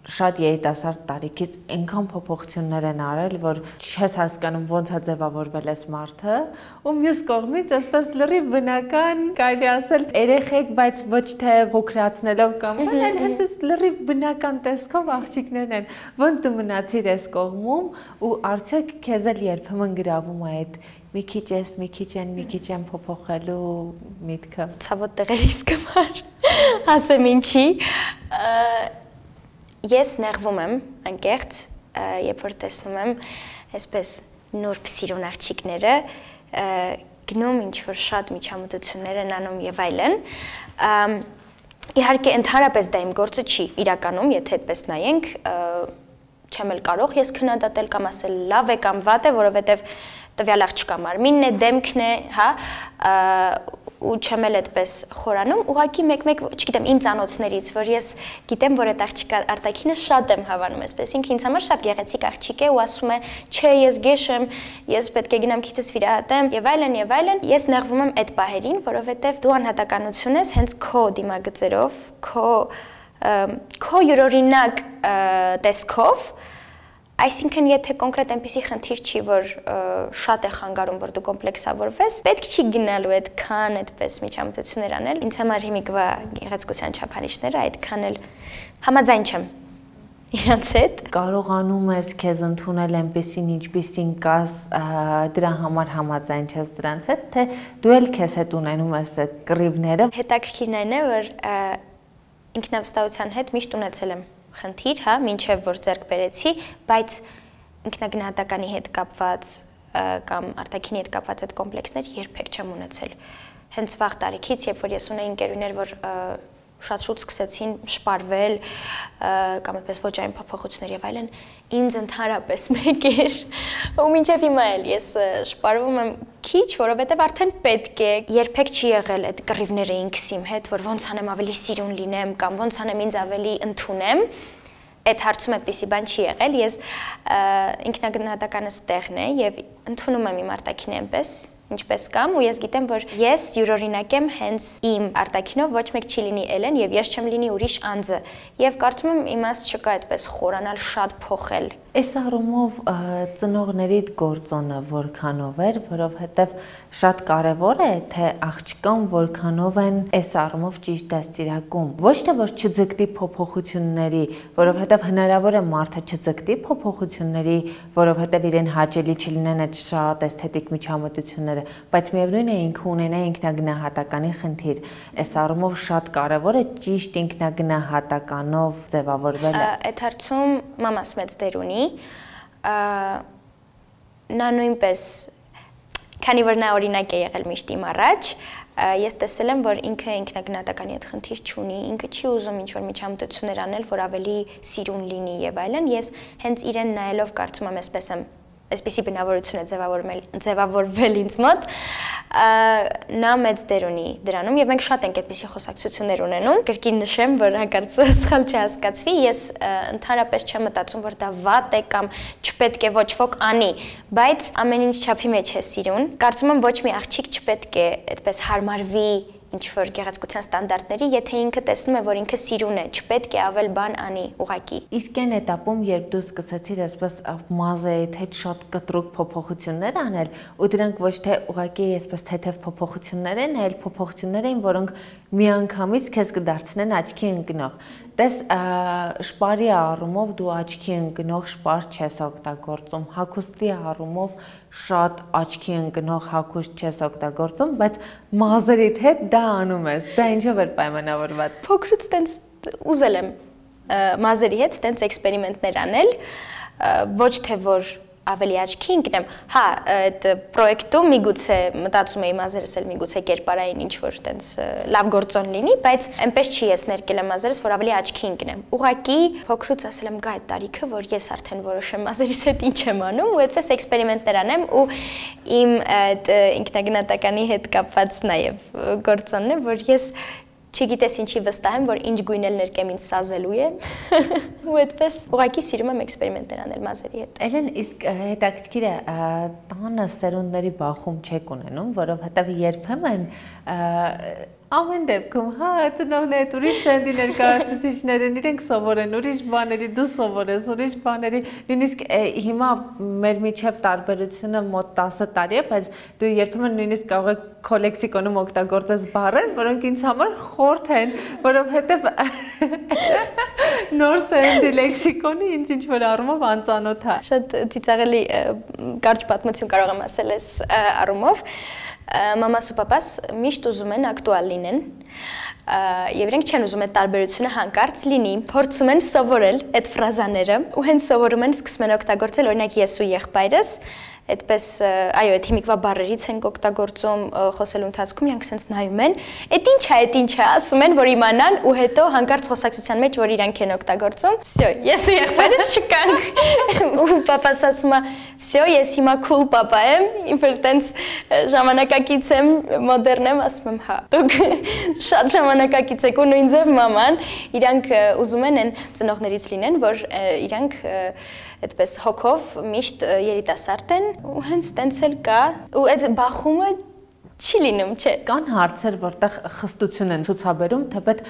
շատ երիտասարդ տարիքից այնքան փոփոխություններ են արել, որ չես հասկանում ոնց է ձևավորվել այս մարդը, ու մյուս կողմից այսպես լրիվ բնական, կարելի ասել երեխեք, բայց ոչ թե փոքրացնելով կամ այլ, այլ հենց այս լրիվ բնական տեսքով աղջիկներն են։ Ոնց դու մնացիր այս կողմում ու արդյոք քեզ էլ երբեմն գրավում է այդ մի քիչ ես, մի քիչ են, մի քիչ են փոփոխելու միտքը։ Ցավոտ տեղերից կմար, ասեմ ինչի։ Ես նեղվում եմ անկեղծ, երբ որ տեսնում եմ այսպես նուրբ սիրուն աղջիկները, գնում ինչ-որ շատ միջամտություններ են անում եւ այլն։ Իհարկե ընդհանրապես դա իմ գործը չի իրականում, եթե այդպես նայենք, չեմ էլ կարող ես քննադատել կամ ասել լավ է կամ վատ է, որովհետեւ տվյալ աղջկա մարմինն է, դեմքն է, հա, ու չեմ էլ այդպես խորանում, ուղղակի մեկ-մեկ, չգիտեմ, իմ ծանոթներից, որ ես գիտեմ, որ այդ աղջիկա արտաքինը շատ եմ հավանում այսպես, ինքը ինձ համար շատ գեղեցիկ աղջիկ է ու ասում է, չէ, ես գեշ եմ, ես պետք է գնամ քիթս վիրահատեմ եւ այլն եւ այլն, ես նեղվում եմ այդ պահերին, որովհետեւ դու անհատականություն ես հենց քո դիմագծերով, քո քո յուրօրինակ տեսքով, այսինքն եթե կոնկրետ այնպիսի խնդիր չի, որ շատ է խանգարում, որ դու կոմպլեքսավորվես, պետք չի գնալու այդքան այդպես միջամտություններ անել։ Ինձ համար հիմիկվա գեղեցկության չափանիշները այդքան էլ համաձայն չեմ իրանց հետ։ Կարողանում ես քեզ ընդունել այնպեսին, ինչպեսին կաս, դրա համար համաձայն չես դրանց հետ, թե դու էլ քեզ հետ ունենում ես այդ կռիվները։ Հետաքրքիրն այն է, որ ինքնավստահության հետ միշտ ունեցել եմ խնդիր, հա, մինչև որ ձեռք բերեցի, բայց ինքնագնահատականի հետ կապված կամ արտաքինի հետ կապված այդ կոմպլեքսներ երբեք չեմ ունեցել։ Հենց վաղ տարիքից, երբ որ ես ունեի ընկերուներ, որ շատ շուտ սկսեցին շպարվել կամ այդպես ոճային փոփոխություններ եւ այլն, ինձ ընդհանրապես մեկ էր, ու մինչեւ հիմա էլ ես շպարվում եմ քիչ, որովհետեւ արդեն պետք է, երբեք չի եղել այդ կռիվները ինքս իմ հետ, որ ոնց անեմ ավելի սիրուն լինեմ կամ ոնց անեմ ինձ ավելի ընդունեմ։ Այդ հարցում այդպիսի բան չի եղել, ես ինքնագնահատականս տեղն է եւ ընդունում եմ իմ արտաքինը այնպես, ինչպես կամ, ու ես գիտեմ, որ ես յուրօրինակ եմ հենց իմ արտաքինով, ոչ մեկ չի լինի Էլեն եւ ես չեմ լինի ուրիշ անձը։ Եվ կարծում եմ իմաստ չկա այդպես խորանալ, շատ փոխել։ Այս առումով ծնողներիդ գործոնը որքանով էր, որովհետև շատ կարևոր է, թե աղջկան որքանով են այս առումով ճիշտ դաստիարակում։ Ոչ թե որ չձգտի փոփոխությունների, որովհետև հնարավոր է մարդը չձգտի փոփոխությունների, որովհետև իրեն հաճելի չլինեն այդ շատ էսթետիկ միջամտությունները, բայց միևնույն է ինքը ունենա ինքնագնահատականի խնդիր։ Այս առումով շատ կարևոր է ճիշտ ինքնագնահատականով ձևավորվելը։ Այդ հարցում մամաս մեծ դեր ունի։ Նա նույնպես, քանի որ նա օրինակ է եղել միշտ իմ առաջ, ես տեսել եմ, որ ինքը ինքնագնահատականի հետ խնդիր չունի, ինքը չի ուզում ինչ-որ միջամտություններ անել, որ ավելի սիրուն լինի եւ այլն, ես հենց իրեն նայելով կարծում եմ այսպես եմ այսպիսի բնավորություն է ձևավորվել, ձևավորվել ինձ մոտ, նա մեծ դեր ունի դրանում եւ մենք շատ ենք այդպիսի խոսակցություններ ունենում։ Կրկին նշեմ, որ հանկարծ սխալ չհասկացվի, ես ընդհանրապես չեմ մտածում, որ դա վատ է կամ չպետք է ոչ ոք անի, բայց ամեն ինչ չափի մեջ է սիրուն։ Կարծում եմ ոչ մի աղջիկ չպետք է այդպես հարմարվի ինչ-որ գեղեցկության ստանդարտների, եթե ինքը տեսնում է, որ ինքը սիրուն է, չպետք է ավել բան անի ուղակի։ Իսկ այն էտապում, երբ դու սկսեցիր այսպես մազերիդ հետ շատ կտրուկ փոփոխություններ անել, ու դրանք ոչ թե ուղակի այսպես թեթև փոփոխություններ են, այլ փոփոխություններ էին, որոնք միանգամից քեզ կդարձնեն աչքի ընկնող։ Տես շպարի առումով դու աչքի ընկնող շպար չես օգտագործում, հագուստի առումով շատ աչքի ընկնող հագուստ չես օգտագործում, բայց մազերիդ հետ դա անում ես, դա ինչով էր պայմանավորված։ Փոքրուց տենց ուզել եմ մազերի հետ տենց էքսպերիմենտներ անել, ոչ թե որ ավելի աչքի ընկնեմ, հա, այդ պրոյեկտում միգուցե մտածում էի մազերս էլ միգուցե կերպարային ինչ-որ տենց լավ գործոն լինի, բայց այնպես չի ես ներկել եմ մազերս, որ ավելի աչքի ընկնեմ։ Ուղղակի փոքրուց ասել եմ գա այդ տարիքը, որ ես արդեն որոշեմ մազերիս հետ ինչ եմ անում, ու այդպես էքսպերիմենտներ անեմ, ու իմ այդ ինքնագնահատականի հետ կապված նաև գործոնն է, որ ես չգիտես ինչի վստահ եմ, որ ինչ գույնել ներկեմ ինձ սազելու է, ու այդպես ուղղակի սիրում եմ էքսպերիմենտներ անել մազերի հետ։ Էլեն, իսկ հետաքրքիր է, տանը սերունդների բախում չեք ունենում, որովհետև երբեմն ամեն դեպքում, հա, ծնողները ուրիշ սենդի ներկայացուցիչներ են, իրենք սովոր են, ուրիշ բաների, դու սովոր ես, ուրիշ բաների, նույնիսկ հիմա մեր միջև տարբերությունը մոտ տասը տարի է, բայց դու երբեմն նույնիսկ կարող ես քո լեքսիկոնում օգտագործես բառեր, որոնք ինձ համար խորթ են, որովհետև նոր սենդի լեքսիկոնի ինձ ինչ-որ առումով անծանոթ է։ Շատ ծիծաղելի կարճ պատմություն կարող եմ ասել այս առումով։ Մամաս ու պապաս միշտ ուզում են ակտուալ լինեն եւ իրենք չեն ուզում այդ տարբերությունը հանկարծ լինի, փորձում են սովորել այդ ֆրազաները ու հենց սովորում են սկսում են օգտագործել, օրինակ ես ու եղբայրս այդպես այո, այդ հիմիկվա բառերից ենք օգտագործում խոսելու ընթացքում, իրանք sense նայում են, «Էդ ինչ է, էդ ինչ է», ասում են, որ իմանան ու հետո հանկարծ խոսակցության մեջ, որ իրանք են օգտագործում, «Всё, ես ու եղբայրս չկանք»։ Ու պապաս ասում է, «Всё, ես հիմա cool պապա եմ, ինքն տենց ժամանակակից եմ, մոդեռն եմ», ասում եմ, «Հա, դուք շատ ժամանակակից եք» ու նույն ձև մաման, իրանք ուզում են այն ծնողներից լինեն, որ իրանք այդպես հոգով միշտ երիտասարդ են ու հենց տենց էլ կա ու այդ բախումը չի լինում, չէ։ Կան հարցեր, որտեղ խստություն են ցուցաբերում, թեպետ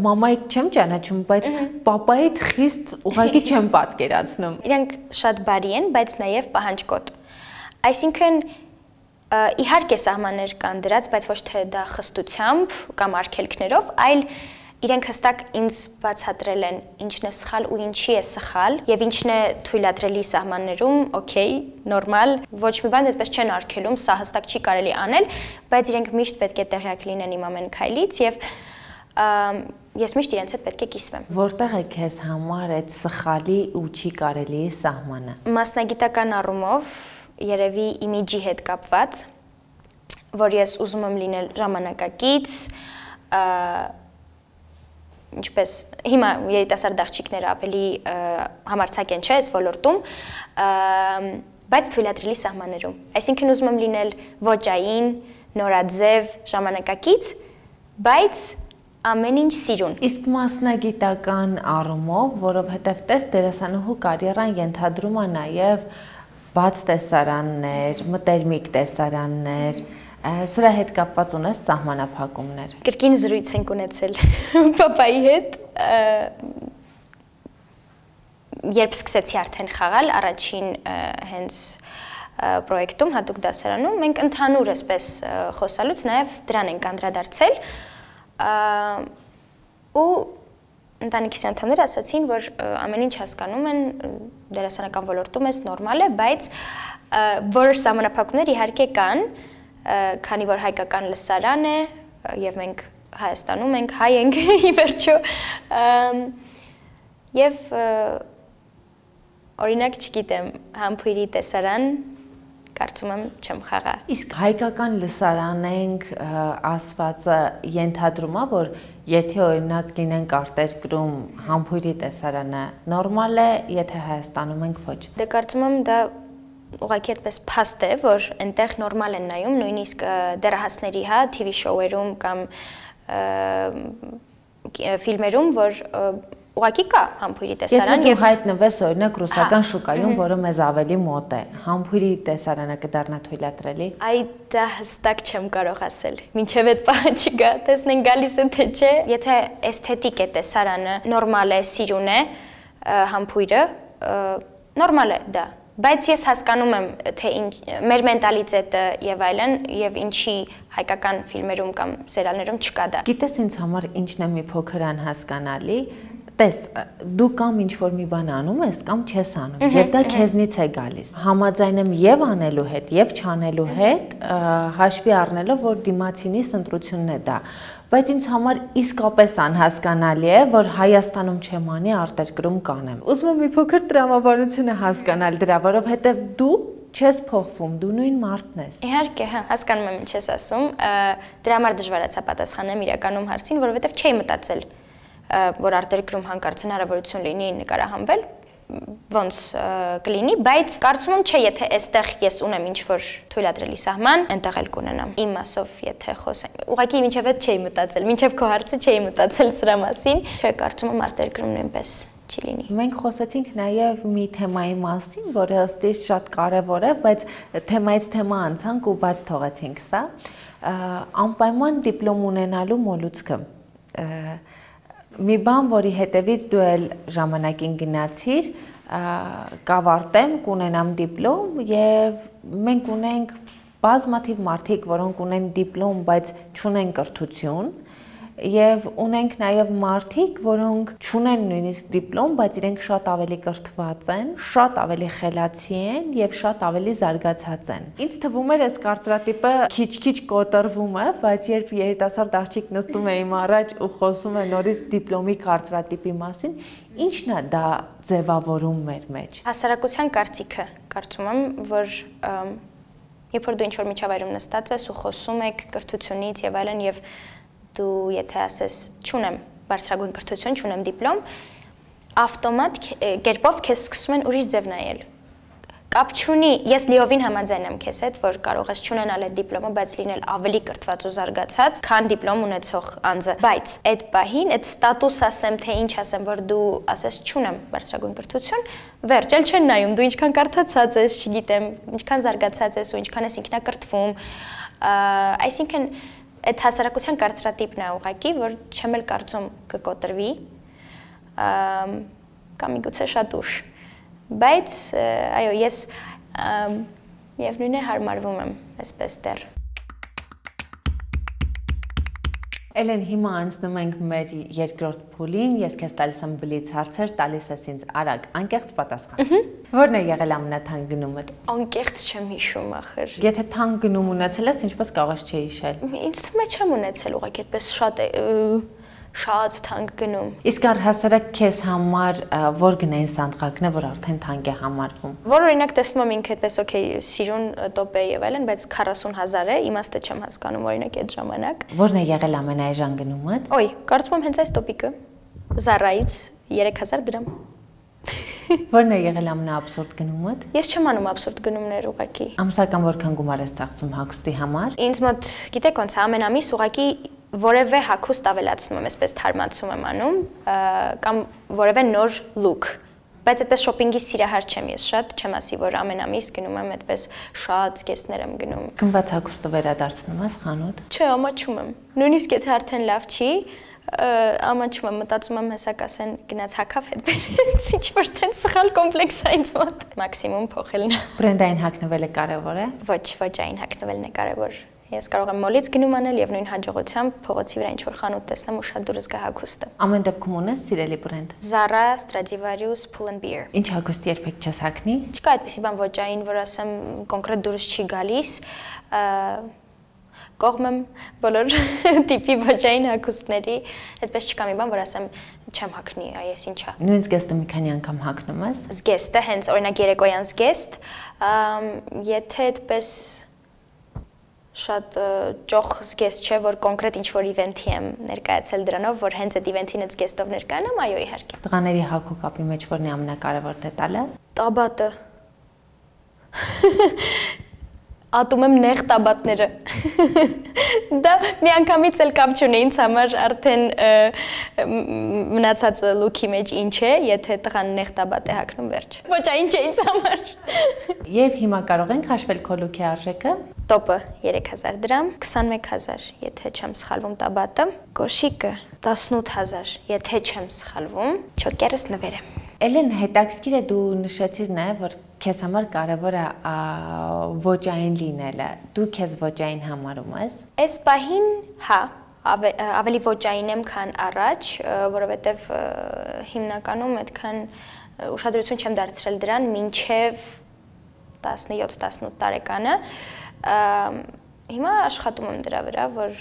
մամայիդ չեմ ճանաչում, բայց պապայիդ խիստ ուղղակի չեմ պատկերացնում։ Իրանք շատ բարի են, բայց նաև պահանջկոտ։ Այսինքն իհարկե սահմաններ կան դրած, բայց ոչ թե դա խստությամբ կամ արգելքներով, այլ իրենք հստակ ինձ բացատրել են ինչն է սխալ ու ինչի է սխալ եւ ինչն է թույլատրելի սահմաններում, օքեյ, նորմալ, ոչ մի բան այդպես չեն արգելում, սա հստակ չի կարելի անել, բայց իրենք միշտ պետք է տեղյակ լինեն իմ ամեն քայլից եւ ես միշտ իրենց հետ պետք է կիսվեմ։ Որտեղ է քեզ համար այդ սխալի ու չի կարելի սահմանը։ Մասնագիտական առումով երևի իմիջի հետ կապված, որ ես ուզում եմ լինել ժամանակակից, ինչպես հիմա երիտասարդ աղջիկները ավելի համարձակ են, չէ, այս ոլորտում, բայց թույլատրելի սահմաններում։ Այսինքն ուզում եմ լինել ոճային, նորաձև, ժամանակակից, բայց ամեն ինչ սիրուն։ Իսկ մասնագիտական առումով, որովհետև տես դերասանուհու կարիերան ենթադրում է նաև բաց տեսարաններ, մտերմիկ տեսարաններ, սրա հետ կապված ունես սահմանափակումներ։ Կրկին զրույց ենք ունեցել պապայի հետ, երբ սկսեցի արդեն խաղալ առաջին հենց պրոյեկտում, հատուկ դասարանում, մենք ընդհանուր այսպես խոսալուց նաև դրան ենք անդրադարձել ու ընտանիքիս անդամները ասացին, որ ամեն ինչ հասկանում են, դերասանական ոլորտում ես նորմալ է, բայց որոշ սահմանափակումներ իհարկե կան, քանի որ հայկական լսարան է եւ մենք Հայաստանում ենք, հայ ենք ի վերջո եւ օրինակ չգիտեմ, համբույրի տեսարան կարծում եմ չեմ խաղա։ Իսկ հայկական լսարան ենք ասվածը ենթադրում է, որ եթե օրինակ լինենք արտերկրում համբույրի տեսարանը նորմալ է, եթե Հայաստանում ենք ոչ։ Դե կարծում եմ դա ուղղակի այդպես փաստ է, որ այնտեղ նորմալ են նայում, նույնիսկ դեռահասների, հա, թի վի շոուերում կամ ֆիլմերում, որ ուղղակի կա համբույրի տեսարան եւ հայտնվես օրինակ ռուսական շուկայում, որը մեզ ավելի մոտ է, համբույրի տեսարանը կդառնա թույլատրելի։ Այ դա հստակ չեմ կարող ասել։ Մինչև այդ պահը չգա, տեսնենք գալիս է թե չէ։ Եթե էսթետիկ է տեսարանը, նորմալ է, սիրուն է համբույրը, նորմալ է դա։ Բայց ես հասկանում եմ, թե մեր մենտալիտետը եւ այլն եւ ինչի հայկական ֆիլմերում կամ սերիալներում չկա դա։ Գիտես ինձ համար ինչն է մի փոքր անհասկանալի, տես, դու կամ ինչ-որ մի բան անում ես, կամ չես անում, եւ դա քեզնից է գալիս։ Համաձայն եմ եւ անելու հետ, եւ չանելու հետ, հաշվի առնելով, որ դիմացինի ընտրությունն է դա։ Բայց ինձ համար իսկապես անհասկանալի է, որ Հայաստանում չեմ անի, արտերկրում կանեմ։ Ուզում եմ մի փոքր տրամաբանությունը հասկանալ դրա, որովհետեւ դու չես փոխվում, դու նույն մարդն ես։ Իհարկե, հա, հասկանում եմ ինչ ես ասում, դրա համար դժվարացա պատասխանեմ իրականում հարցին, որովհետեւ չէի մտածել, որ արտերկրում հանկարծ հնարավորություն լինի նկարահանվել, ոնց կլինի, բայց կարծում եմ չէ, եթե այստեղ ես ունեմ ինչ-որ թույլատրելի սահման, այնտեղ էլ կունենամ։ Իմ մասով եթե խոսենք, ուղղակի մինչև այդ չէի մտածել, մինչև քո հարցը չէի մտածել սրա մասին, չէ, կարծում եմ արտերկրում նույնպես չի լինի։ Մենք խոսեցինք նաև մի թեմայի մասին, որը ըստ իս շատ կարևոր է, բայց թեմայից թեմա անցանք ու բաց թողեցինք սա, անպայման դիպլոմ ունենալու մոլուցքը։ Մի բան, որի հետևից դու էլ ժամանակին գնացիր, կավարտեմ, կունենամ դիպլոմ եւ մենք ունենք բազմաթիվ մարդիկ, որոնք ունեն դիպլոմ, բայց չունեն կրթություն, եւ ունենք նաեւ մարդիկ, որոնք չունեն նույնիսկ դիպլոմ, բայց իրենք շատ ավելի կրթված են, շատ ավելի խելացի են եւ շատ ավելի զարգացած են։ Ինձ թվում էր այս կարծրատիպը քիչ-քիչ կոտրվում է, բայց երբ երիտասարդ աղջիկ նստում է իմ առաջ ու խոսում է նորից դիպլոմի կարծրատիպի մասին, ի՞նչն է դա ձևավորում մեր մեջ։ Հասարակության կարծիքը, կարծում եմ, որ երբ որ դու ինչ-որ միջավայրում նստած ես ու խոսում եք կրթությունից եւ այլն եւ դու եթե ասես չունեմ բարձրագույն կրթություն, չունեմ դիպլոմ, ավտոմատ կերպով քեզ սկսում են ուրիշ ձև նայել։ Կապ չունի, ես լիովին համաձայն եմ քեզ հետ, որ կարող ես չունենալ այդ դիպլոմը, բայց լինել ավելի կրթված ու զարգացած, քան դիպլոմ ունեցող անձը։ Բայց այդ պահին, այդ ստատուս ասեմ, թե ինչ ասեմ, որ դու ասես չունեմ բարձրագույն կրթություն, վերջ էլ չեն նայում, դու ինչքան կարդացած ես, չգիտեմ, ինչքան զարգացած ես ու ինչքան ես ինքնակրթվում, այսինքն այդ հասարակության կարծրատիպն է ուղղակի, որ չեմ էլ կարծում կկոտրվի, կամ միգուցե շատ ուշ, բայց այո, ես միևնույն է հարմարվում եմ այսպես դեռ։ Էլեն, հիմա անցնում ենք մեր երկրորդ փուլին, ես քեզ տալիս եմ բլից հարցեր, տալիս ես ինձ արագ, անկեղծ պատասխան։ Որն է եղել ամենաթանկ գնումդ։ Անկեղծ չեմ հիշում ախր։ Եթե թանկ գնում ունեցել ես, ինչպես կարող ես չհիշել։ Ինձ թվում է չեմ ունեցել, ուղղակի այդպես շատ շատ թանկ գնում։ Իսկ առհասարակ քեզ համար որ գնային սանդղակն է, որ արդեն թանկ է համարվում։ Որ օրինակ տեսնում եմ ինքը այդպես օքեյ, սիրուն տոպ է եւ այլն, բայց քառասուն հազար է, իմաստը չեմ հասկանում օրինակ այդ ժամանակ։ Որն է եղել ամենաէժան գնումդ։ Ոյ, կարծում եմ հենց այս տոպիկը։ Zara-ից երեք հազար դրամ։ Որն է եղել ամենաաբսուրդ գնումդ։ Ես չեմ անում աբսուրդ գնումներ ուղակի։ Ամսական որքան գումար ես ծախսում հագուստի համար։ Ինձ մոտ, գիտեք ոնց է, ամեն ամիս ուղակի որևէ հագուստ ավելացնում եմ, այսպես թարմացում եմ անում, կամ որևէ նոր look։ Բայց այդպես շոփինգի սիրահար չեմ ես շատ, չեմ ասի, որ ամեն ամիս գնում եմ այդպես շատ զգեստներ եմ գնում։ Գնված հագուստը վերադարձնում ես խանութ։ Չէ, ամաչում եմ։ Նույնիսկ եթե արդեն լավ չի, ամաչում եմ, մտածում եմ հեսա կասեն գնաց հագավ հետ բերեց, ինչ որ տենց սխալ կոմպլեքս է ինձ մոտ։ Մաքսիմում փոխելն է։ Բրենդային հագնվելը կարևոր է։ Ոչ, ոչ այն հագնվելն է կարևոր։ Ես կարող եմ մոլից գնում անել եւ նույն հաջողությամբ փողոցի վրա ինչ որ խանութ տեսնեմ ու շատ դուրս գա հագուստը։ Ամեն դեպքում ունես սիրելի բրենդ։ Zara, Stradivarius, Pull and Bear։ Ինչ հագուստ երբեք չես հագնի։ Չկա այդպեսի բան ոճային, որ ասեմ կոնկրետ դուրս չի գալիս։ Կողմ եմ բոլոր տիպի ոճային հագուստների, այդպես չկա մի բան, որ ասեմ չեմ հագնի, այ ես ինչա։ Նույն զգեստը մի քանի անգամ հագնում ես։ Զգեստը հենց օրինակ երեկոյան զգեստ, եթե այդպես շատ ճոխ զգեստ չէ, որ կոնկրետ ինչ-որ իվենթի եմ ներկայացել դրանով, որ հենց այդ իվենթին այդ զգեստով ներկայանամ, այո, իհարկե։ Տղաների հագու կապի մեջ որն է ամենակարևոր դետալը։ Տաբատը։ Ատում եմ նեղ տաբատները։ Դա միանգամից էլ կապ չունի ինձ համար արդեն մնացած լուքի մեջ ինչ է, եթե տղան նեղ տաբատ է հագնում վերջ։ Ոչ, այն չէ ինձ համար։ Եվ հիմա կարող ենք հաշվել քո լուքի արժեքը։ Տոպը երեք հազար դրամ, քսանմեկ հազար, եթե չեմ սխալվում տաբատը, կոշիկը տասնութ հազար, եթե չեմ սխալվում, չոկերս նվեր է։ Էլեն, հետաքրքիր է դու նշեցիր նաև, որ քեզ համար կարևոր է ոճային լինելը։ Դու քեզ ոճային համարում ես։ Այս պահին, հա, ավելի ոճային եմ, քան առաջ, որովհետև հիմնականում այդքան ուշադրություն չեմ դարձրել դրան մինչև տասնյոթ տասնութ տարեկանը։ Հիմա աշխատում եմ դրա վրա, որ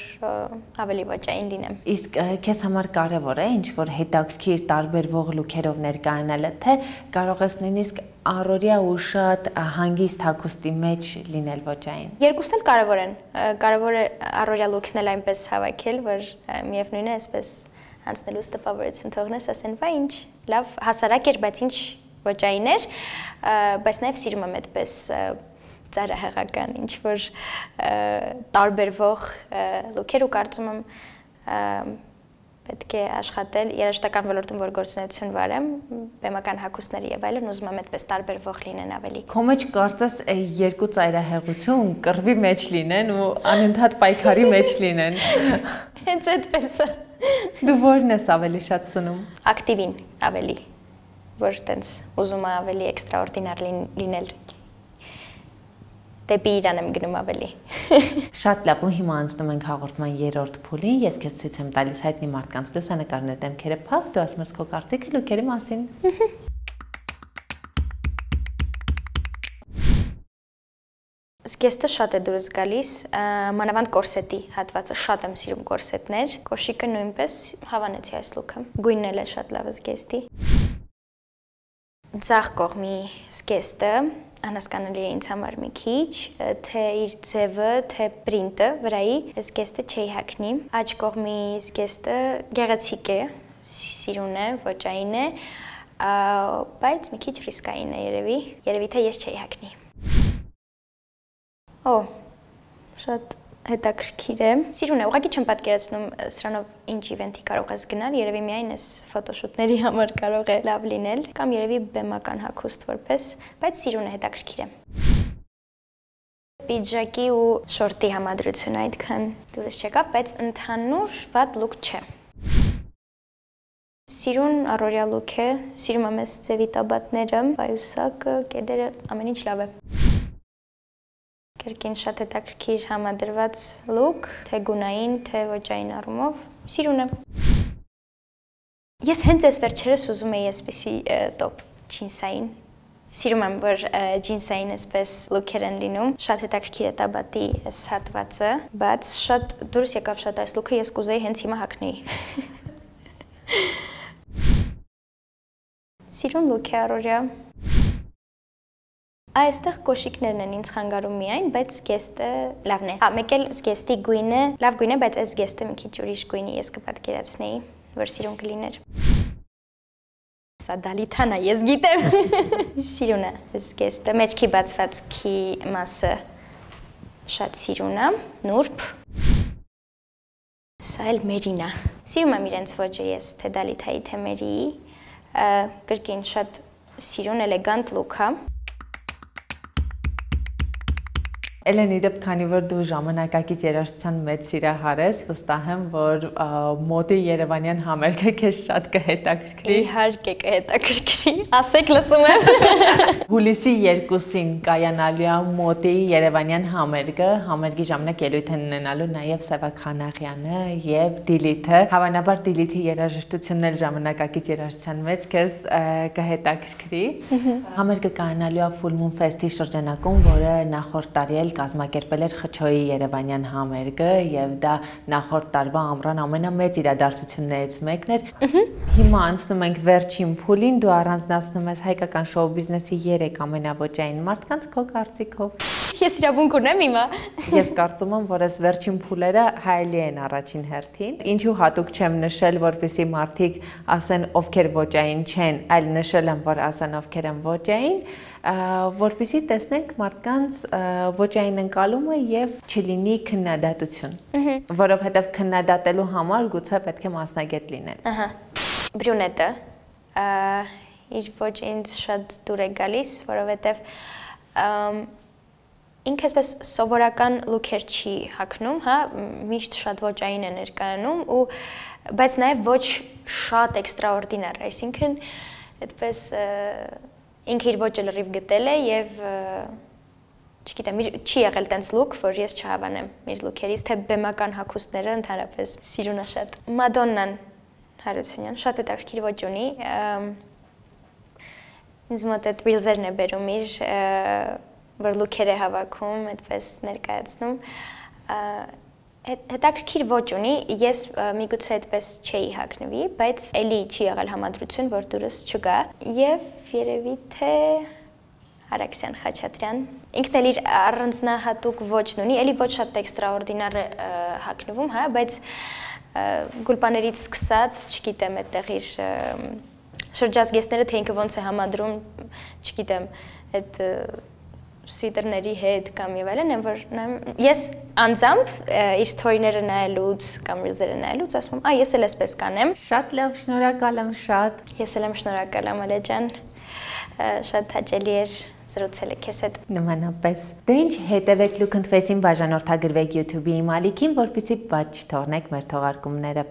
ավելի ոճային լինեմ։ Իսկ քեզ համար կարևոր է ինչ-որ հետաքրքիր տարբերվող լուքերով ներկայանալը, թե կարող ես նույնիսկ առօրյա ու շատ հանգիստ հագուստի մեջ լինել ոճային։ Երկուսն էլ կարևոր են։ Կարևոր է առօրյա լուքն էլ այնպես հավաքել, որ միևնույն է, այսպես անցնելուց տպավորություն թողնես, ասեն, վայ, ինչ լավ հասարակ էր, բայց ինչ ոճային էր, բայց նաև սիրում եմ այդպես ծայրահեղական, ինչ-որ տարբերվող լուքեր ու կարծում եմ պետք է աշխատել երաժշտական ոլորտում, որ գործունեություն վարեմ, բեմական հագուստների եւ այլն, ուզում եմ այդպես տարբերվող լինեն ավելի։ Քո մեջ կարծես երկու ծայրահեղություն կռվի մեջ լինեն ու անընդհատ պայքարի մեջ լինեն։ Հենց այդպես է։ Դու որն ես ավելի շատ սնում։ Ակտիվին ավելի, որ տենց ուզում եմ ավելի էքստրաորդինար լինել։ Դեպի Իրան եմ գնում ավելի։ Շատ լավ, ու հիմա անցնում ենք հաղորդման երրորդ փուլին։ Ես քեզ ցույց եմ տալիս հայտնի մարդկանց լուսանկարներ, դեմքերը փակ, դու ասում ես քո կարծիքը լուքերի մասին։ Զգեստը շատ է դուրս գալիս, մանավանդ կորսետի հատվածը, շատ եմ սիրում կորսետներ, կոշիկը նույնպես հավանեցի այս լուքը, գույնն էլ է շատ լավ զգեստի։ Ձախ կողմի զգեստը անհասկանալի է ինձ համար մի քիչ, թե իր ձևը, թե պրինտը վրայի զգեստը չի հագնի։ Աջ կողմի զգեստը գեղեցիկ է, սիրուն է, ոճային է, բայց մի քիչ ռիսկային է երևի, երևի թե ես չի հագնի։ Օ, շատ հետաքրքիր է։ Սիրուն է, ուղղակի չեմ պատկերացնում սրանով ինչ իվենթի կարող ես գնալ, երևի միայն այս ֆոտոշուտների համար կարող է լավ լինել, կամ երևի բեմական հագուստ որպես, բայց սիրուն է, հետաքրքիր է։ Պիջակի ու շորտի համադրությունը այդքան դուրս չեկավ, բայց ընդհանուր վատ լուք չէ։ Սիրուն առօրյա լուք է, սիրում եմ այս ձևի տաբատները, պայուսակը, կեդերը, ամեն ինչ լավ է։ Կերկին շատ հետաքրքիր համադրված լուք, թե գունային, թե ոճային առումով, սիրուն է։ Ես հենց այս վերջերս ուզում էի այսպիսի տոպ ջինսային։ Սիրում եմ, որ ջինսային այսպես լուքեր են լինում, շատ հետաքրքիր է տաբատի այս հատվածը, բայց շատ դուրս եկավ շատ այս լուքը, ես կուզեի հենց հիմա հագնեի։ Սիրուն լուք է առօրյա։ Այստեղ կոշիկներն են ինձ խանգարում միայն, բայց զգեստը լավն է։ Հա, մեկ էլ զգեստի գույնը լավ գույն է, բայց այս զգեստը մի քիչ ուրիշ գույնի ես կպատկերացնեի, որ սիրուն կլիներ։ Սա դալիթան է, ես գիտեմ։ Սիրուն է զգեստը, մեջքի բացվածքի մասը շատ սիրուն է, նուրբ։ Սա էլ մերին է։ Սիրում եմ իրենց ոճը ես, թե դալիթայի, թե մերիի, կրկին շատ սիրուն, էլեգանտ լուք է։ Էլենի դեպ քանի որ դու ժամանակակից երաժշտության մեծ սիրահար ես, վստահ եմ, որ մոդի Երևանյան համերգը քեզ շատ կհետաքրքրի։ Իհարկե կհետաքրքրի, ասեք լսում եմ։ Հուլիսի երկուսին կայանալու է մոդի Երևանյան համերգը, համերգի ժամանակ ելույթ են ունենալու նաև Սևակ Խանաղյանը եւ Դիլիթը։ Հավանաբար Դիլիթի երաժշտությունն էլ ժամանակակից երաժշտության մեջ քեզ կհետաքրքրի։ Համերգը կայանալու է Full Moon Fest-ի շրջանակում, որը նախորդ տարի էլ կազմակերպել էր Խչոյի Երևանյան համերգը եւ դա նախորդ տարվա ամռան ամենամեծ իրադարձություններից մեկն էր։ Հիմա անցնում ենք վերջին փուլին, դու առանձնացնում ես հայկական շոու բիզնեսի երեք ամենաոճային մարդկանց քո կարծիքով։ Ես իրավունք ունեմ հիմա։ Ես կարծում եմ, որ այս վերջին փուլերը հայելի են առաջին հերթին։ Ինչու հատուկ չեմ նշել, որպեսզի մարդիկ ասեն ովքեր ոճային չեն, այլ նշել եմ, որ ասեն ովքեր են ոճային, որպեսզի տեսնենք մարդկանց ոճային ընկալումը եւ չլինի քննադատություն, որովհետեւ քննադատելու համար գուցե պետք է մասնագետ լինել։ Ահա։ Բրյունետը իր ոճը ինձ շատ դուր է գալիս, որովհետեւ ինքը այսպես սովորական լուքեր չի հագնում, հա, միշտ շատ ոճային է ներկայանում ու բայց նաեւ ոչ շատ էքստրաորդինար, այսինքն այդպես ինքը իր ոճը լրիվ գտել է եւ չգիտեմ, չի եղել տենց լուք, որ ես չհավանեմ իր լուքերից, թե բեմական հագուստները ընդհանրապես սիրուն է շատ։ Մադոննան Հարությունյան շատ հետաքրքիր ոճ ունի։ Ինձ մոտ այդ ռիլզերն է բերում իր, որ լուքեր է հավաքում, այդպես ներկայացնում։ Հետաքրքիր ոճ ունի, ես միգուցե այդպես չէի հագնվի, բայց էլի չի եղել համադրություն, որ դուրս չգա։ Եվ երևի թե Արաքսյան Խաչատրյան, ինքն էլ իր առանձնահատուկ ոճն ունի, էլի ոչ շատ էքստրաորդինար է հագնվում, հա, բայց գուլպաներից սկսած, չգիտեմ, այդտեղ իր շրջազգեստները, թե ինքը ոնց է համադրում, չգիտեմ, այդ սվիտերների հետ կամ եւ այլն, որ ես անձամբ իր սթորիները նայելուց կամ ռիլզերը նայելուց ասում եմ, «Ա, ես էլ էսպես կանեմ»։ Շատ լավ, շնորհակալ եմ շատ։ Ես էլ եմ շնորհակալ Ամալե ջան։ Շատ հաճելի էր զրուցել քեզ հետ։ Նմանապես։ Դե ինչ, հետևեք Look and Face-ին, բաժանորդագրվեք YouTube-ի իմ ալիքին, որպեսզի բաց չթողնեք մեր թողարկումները։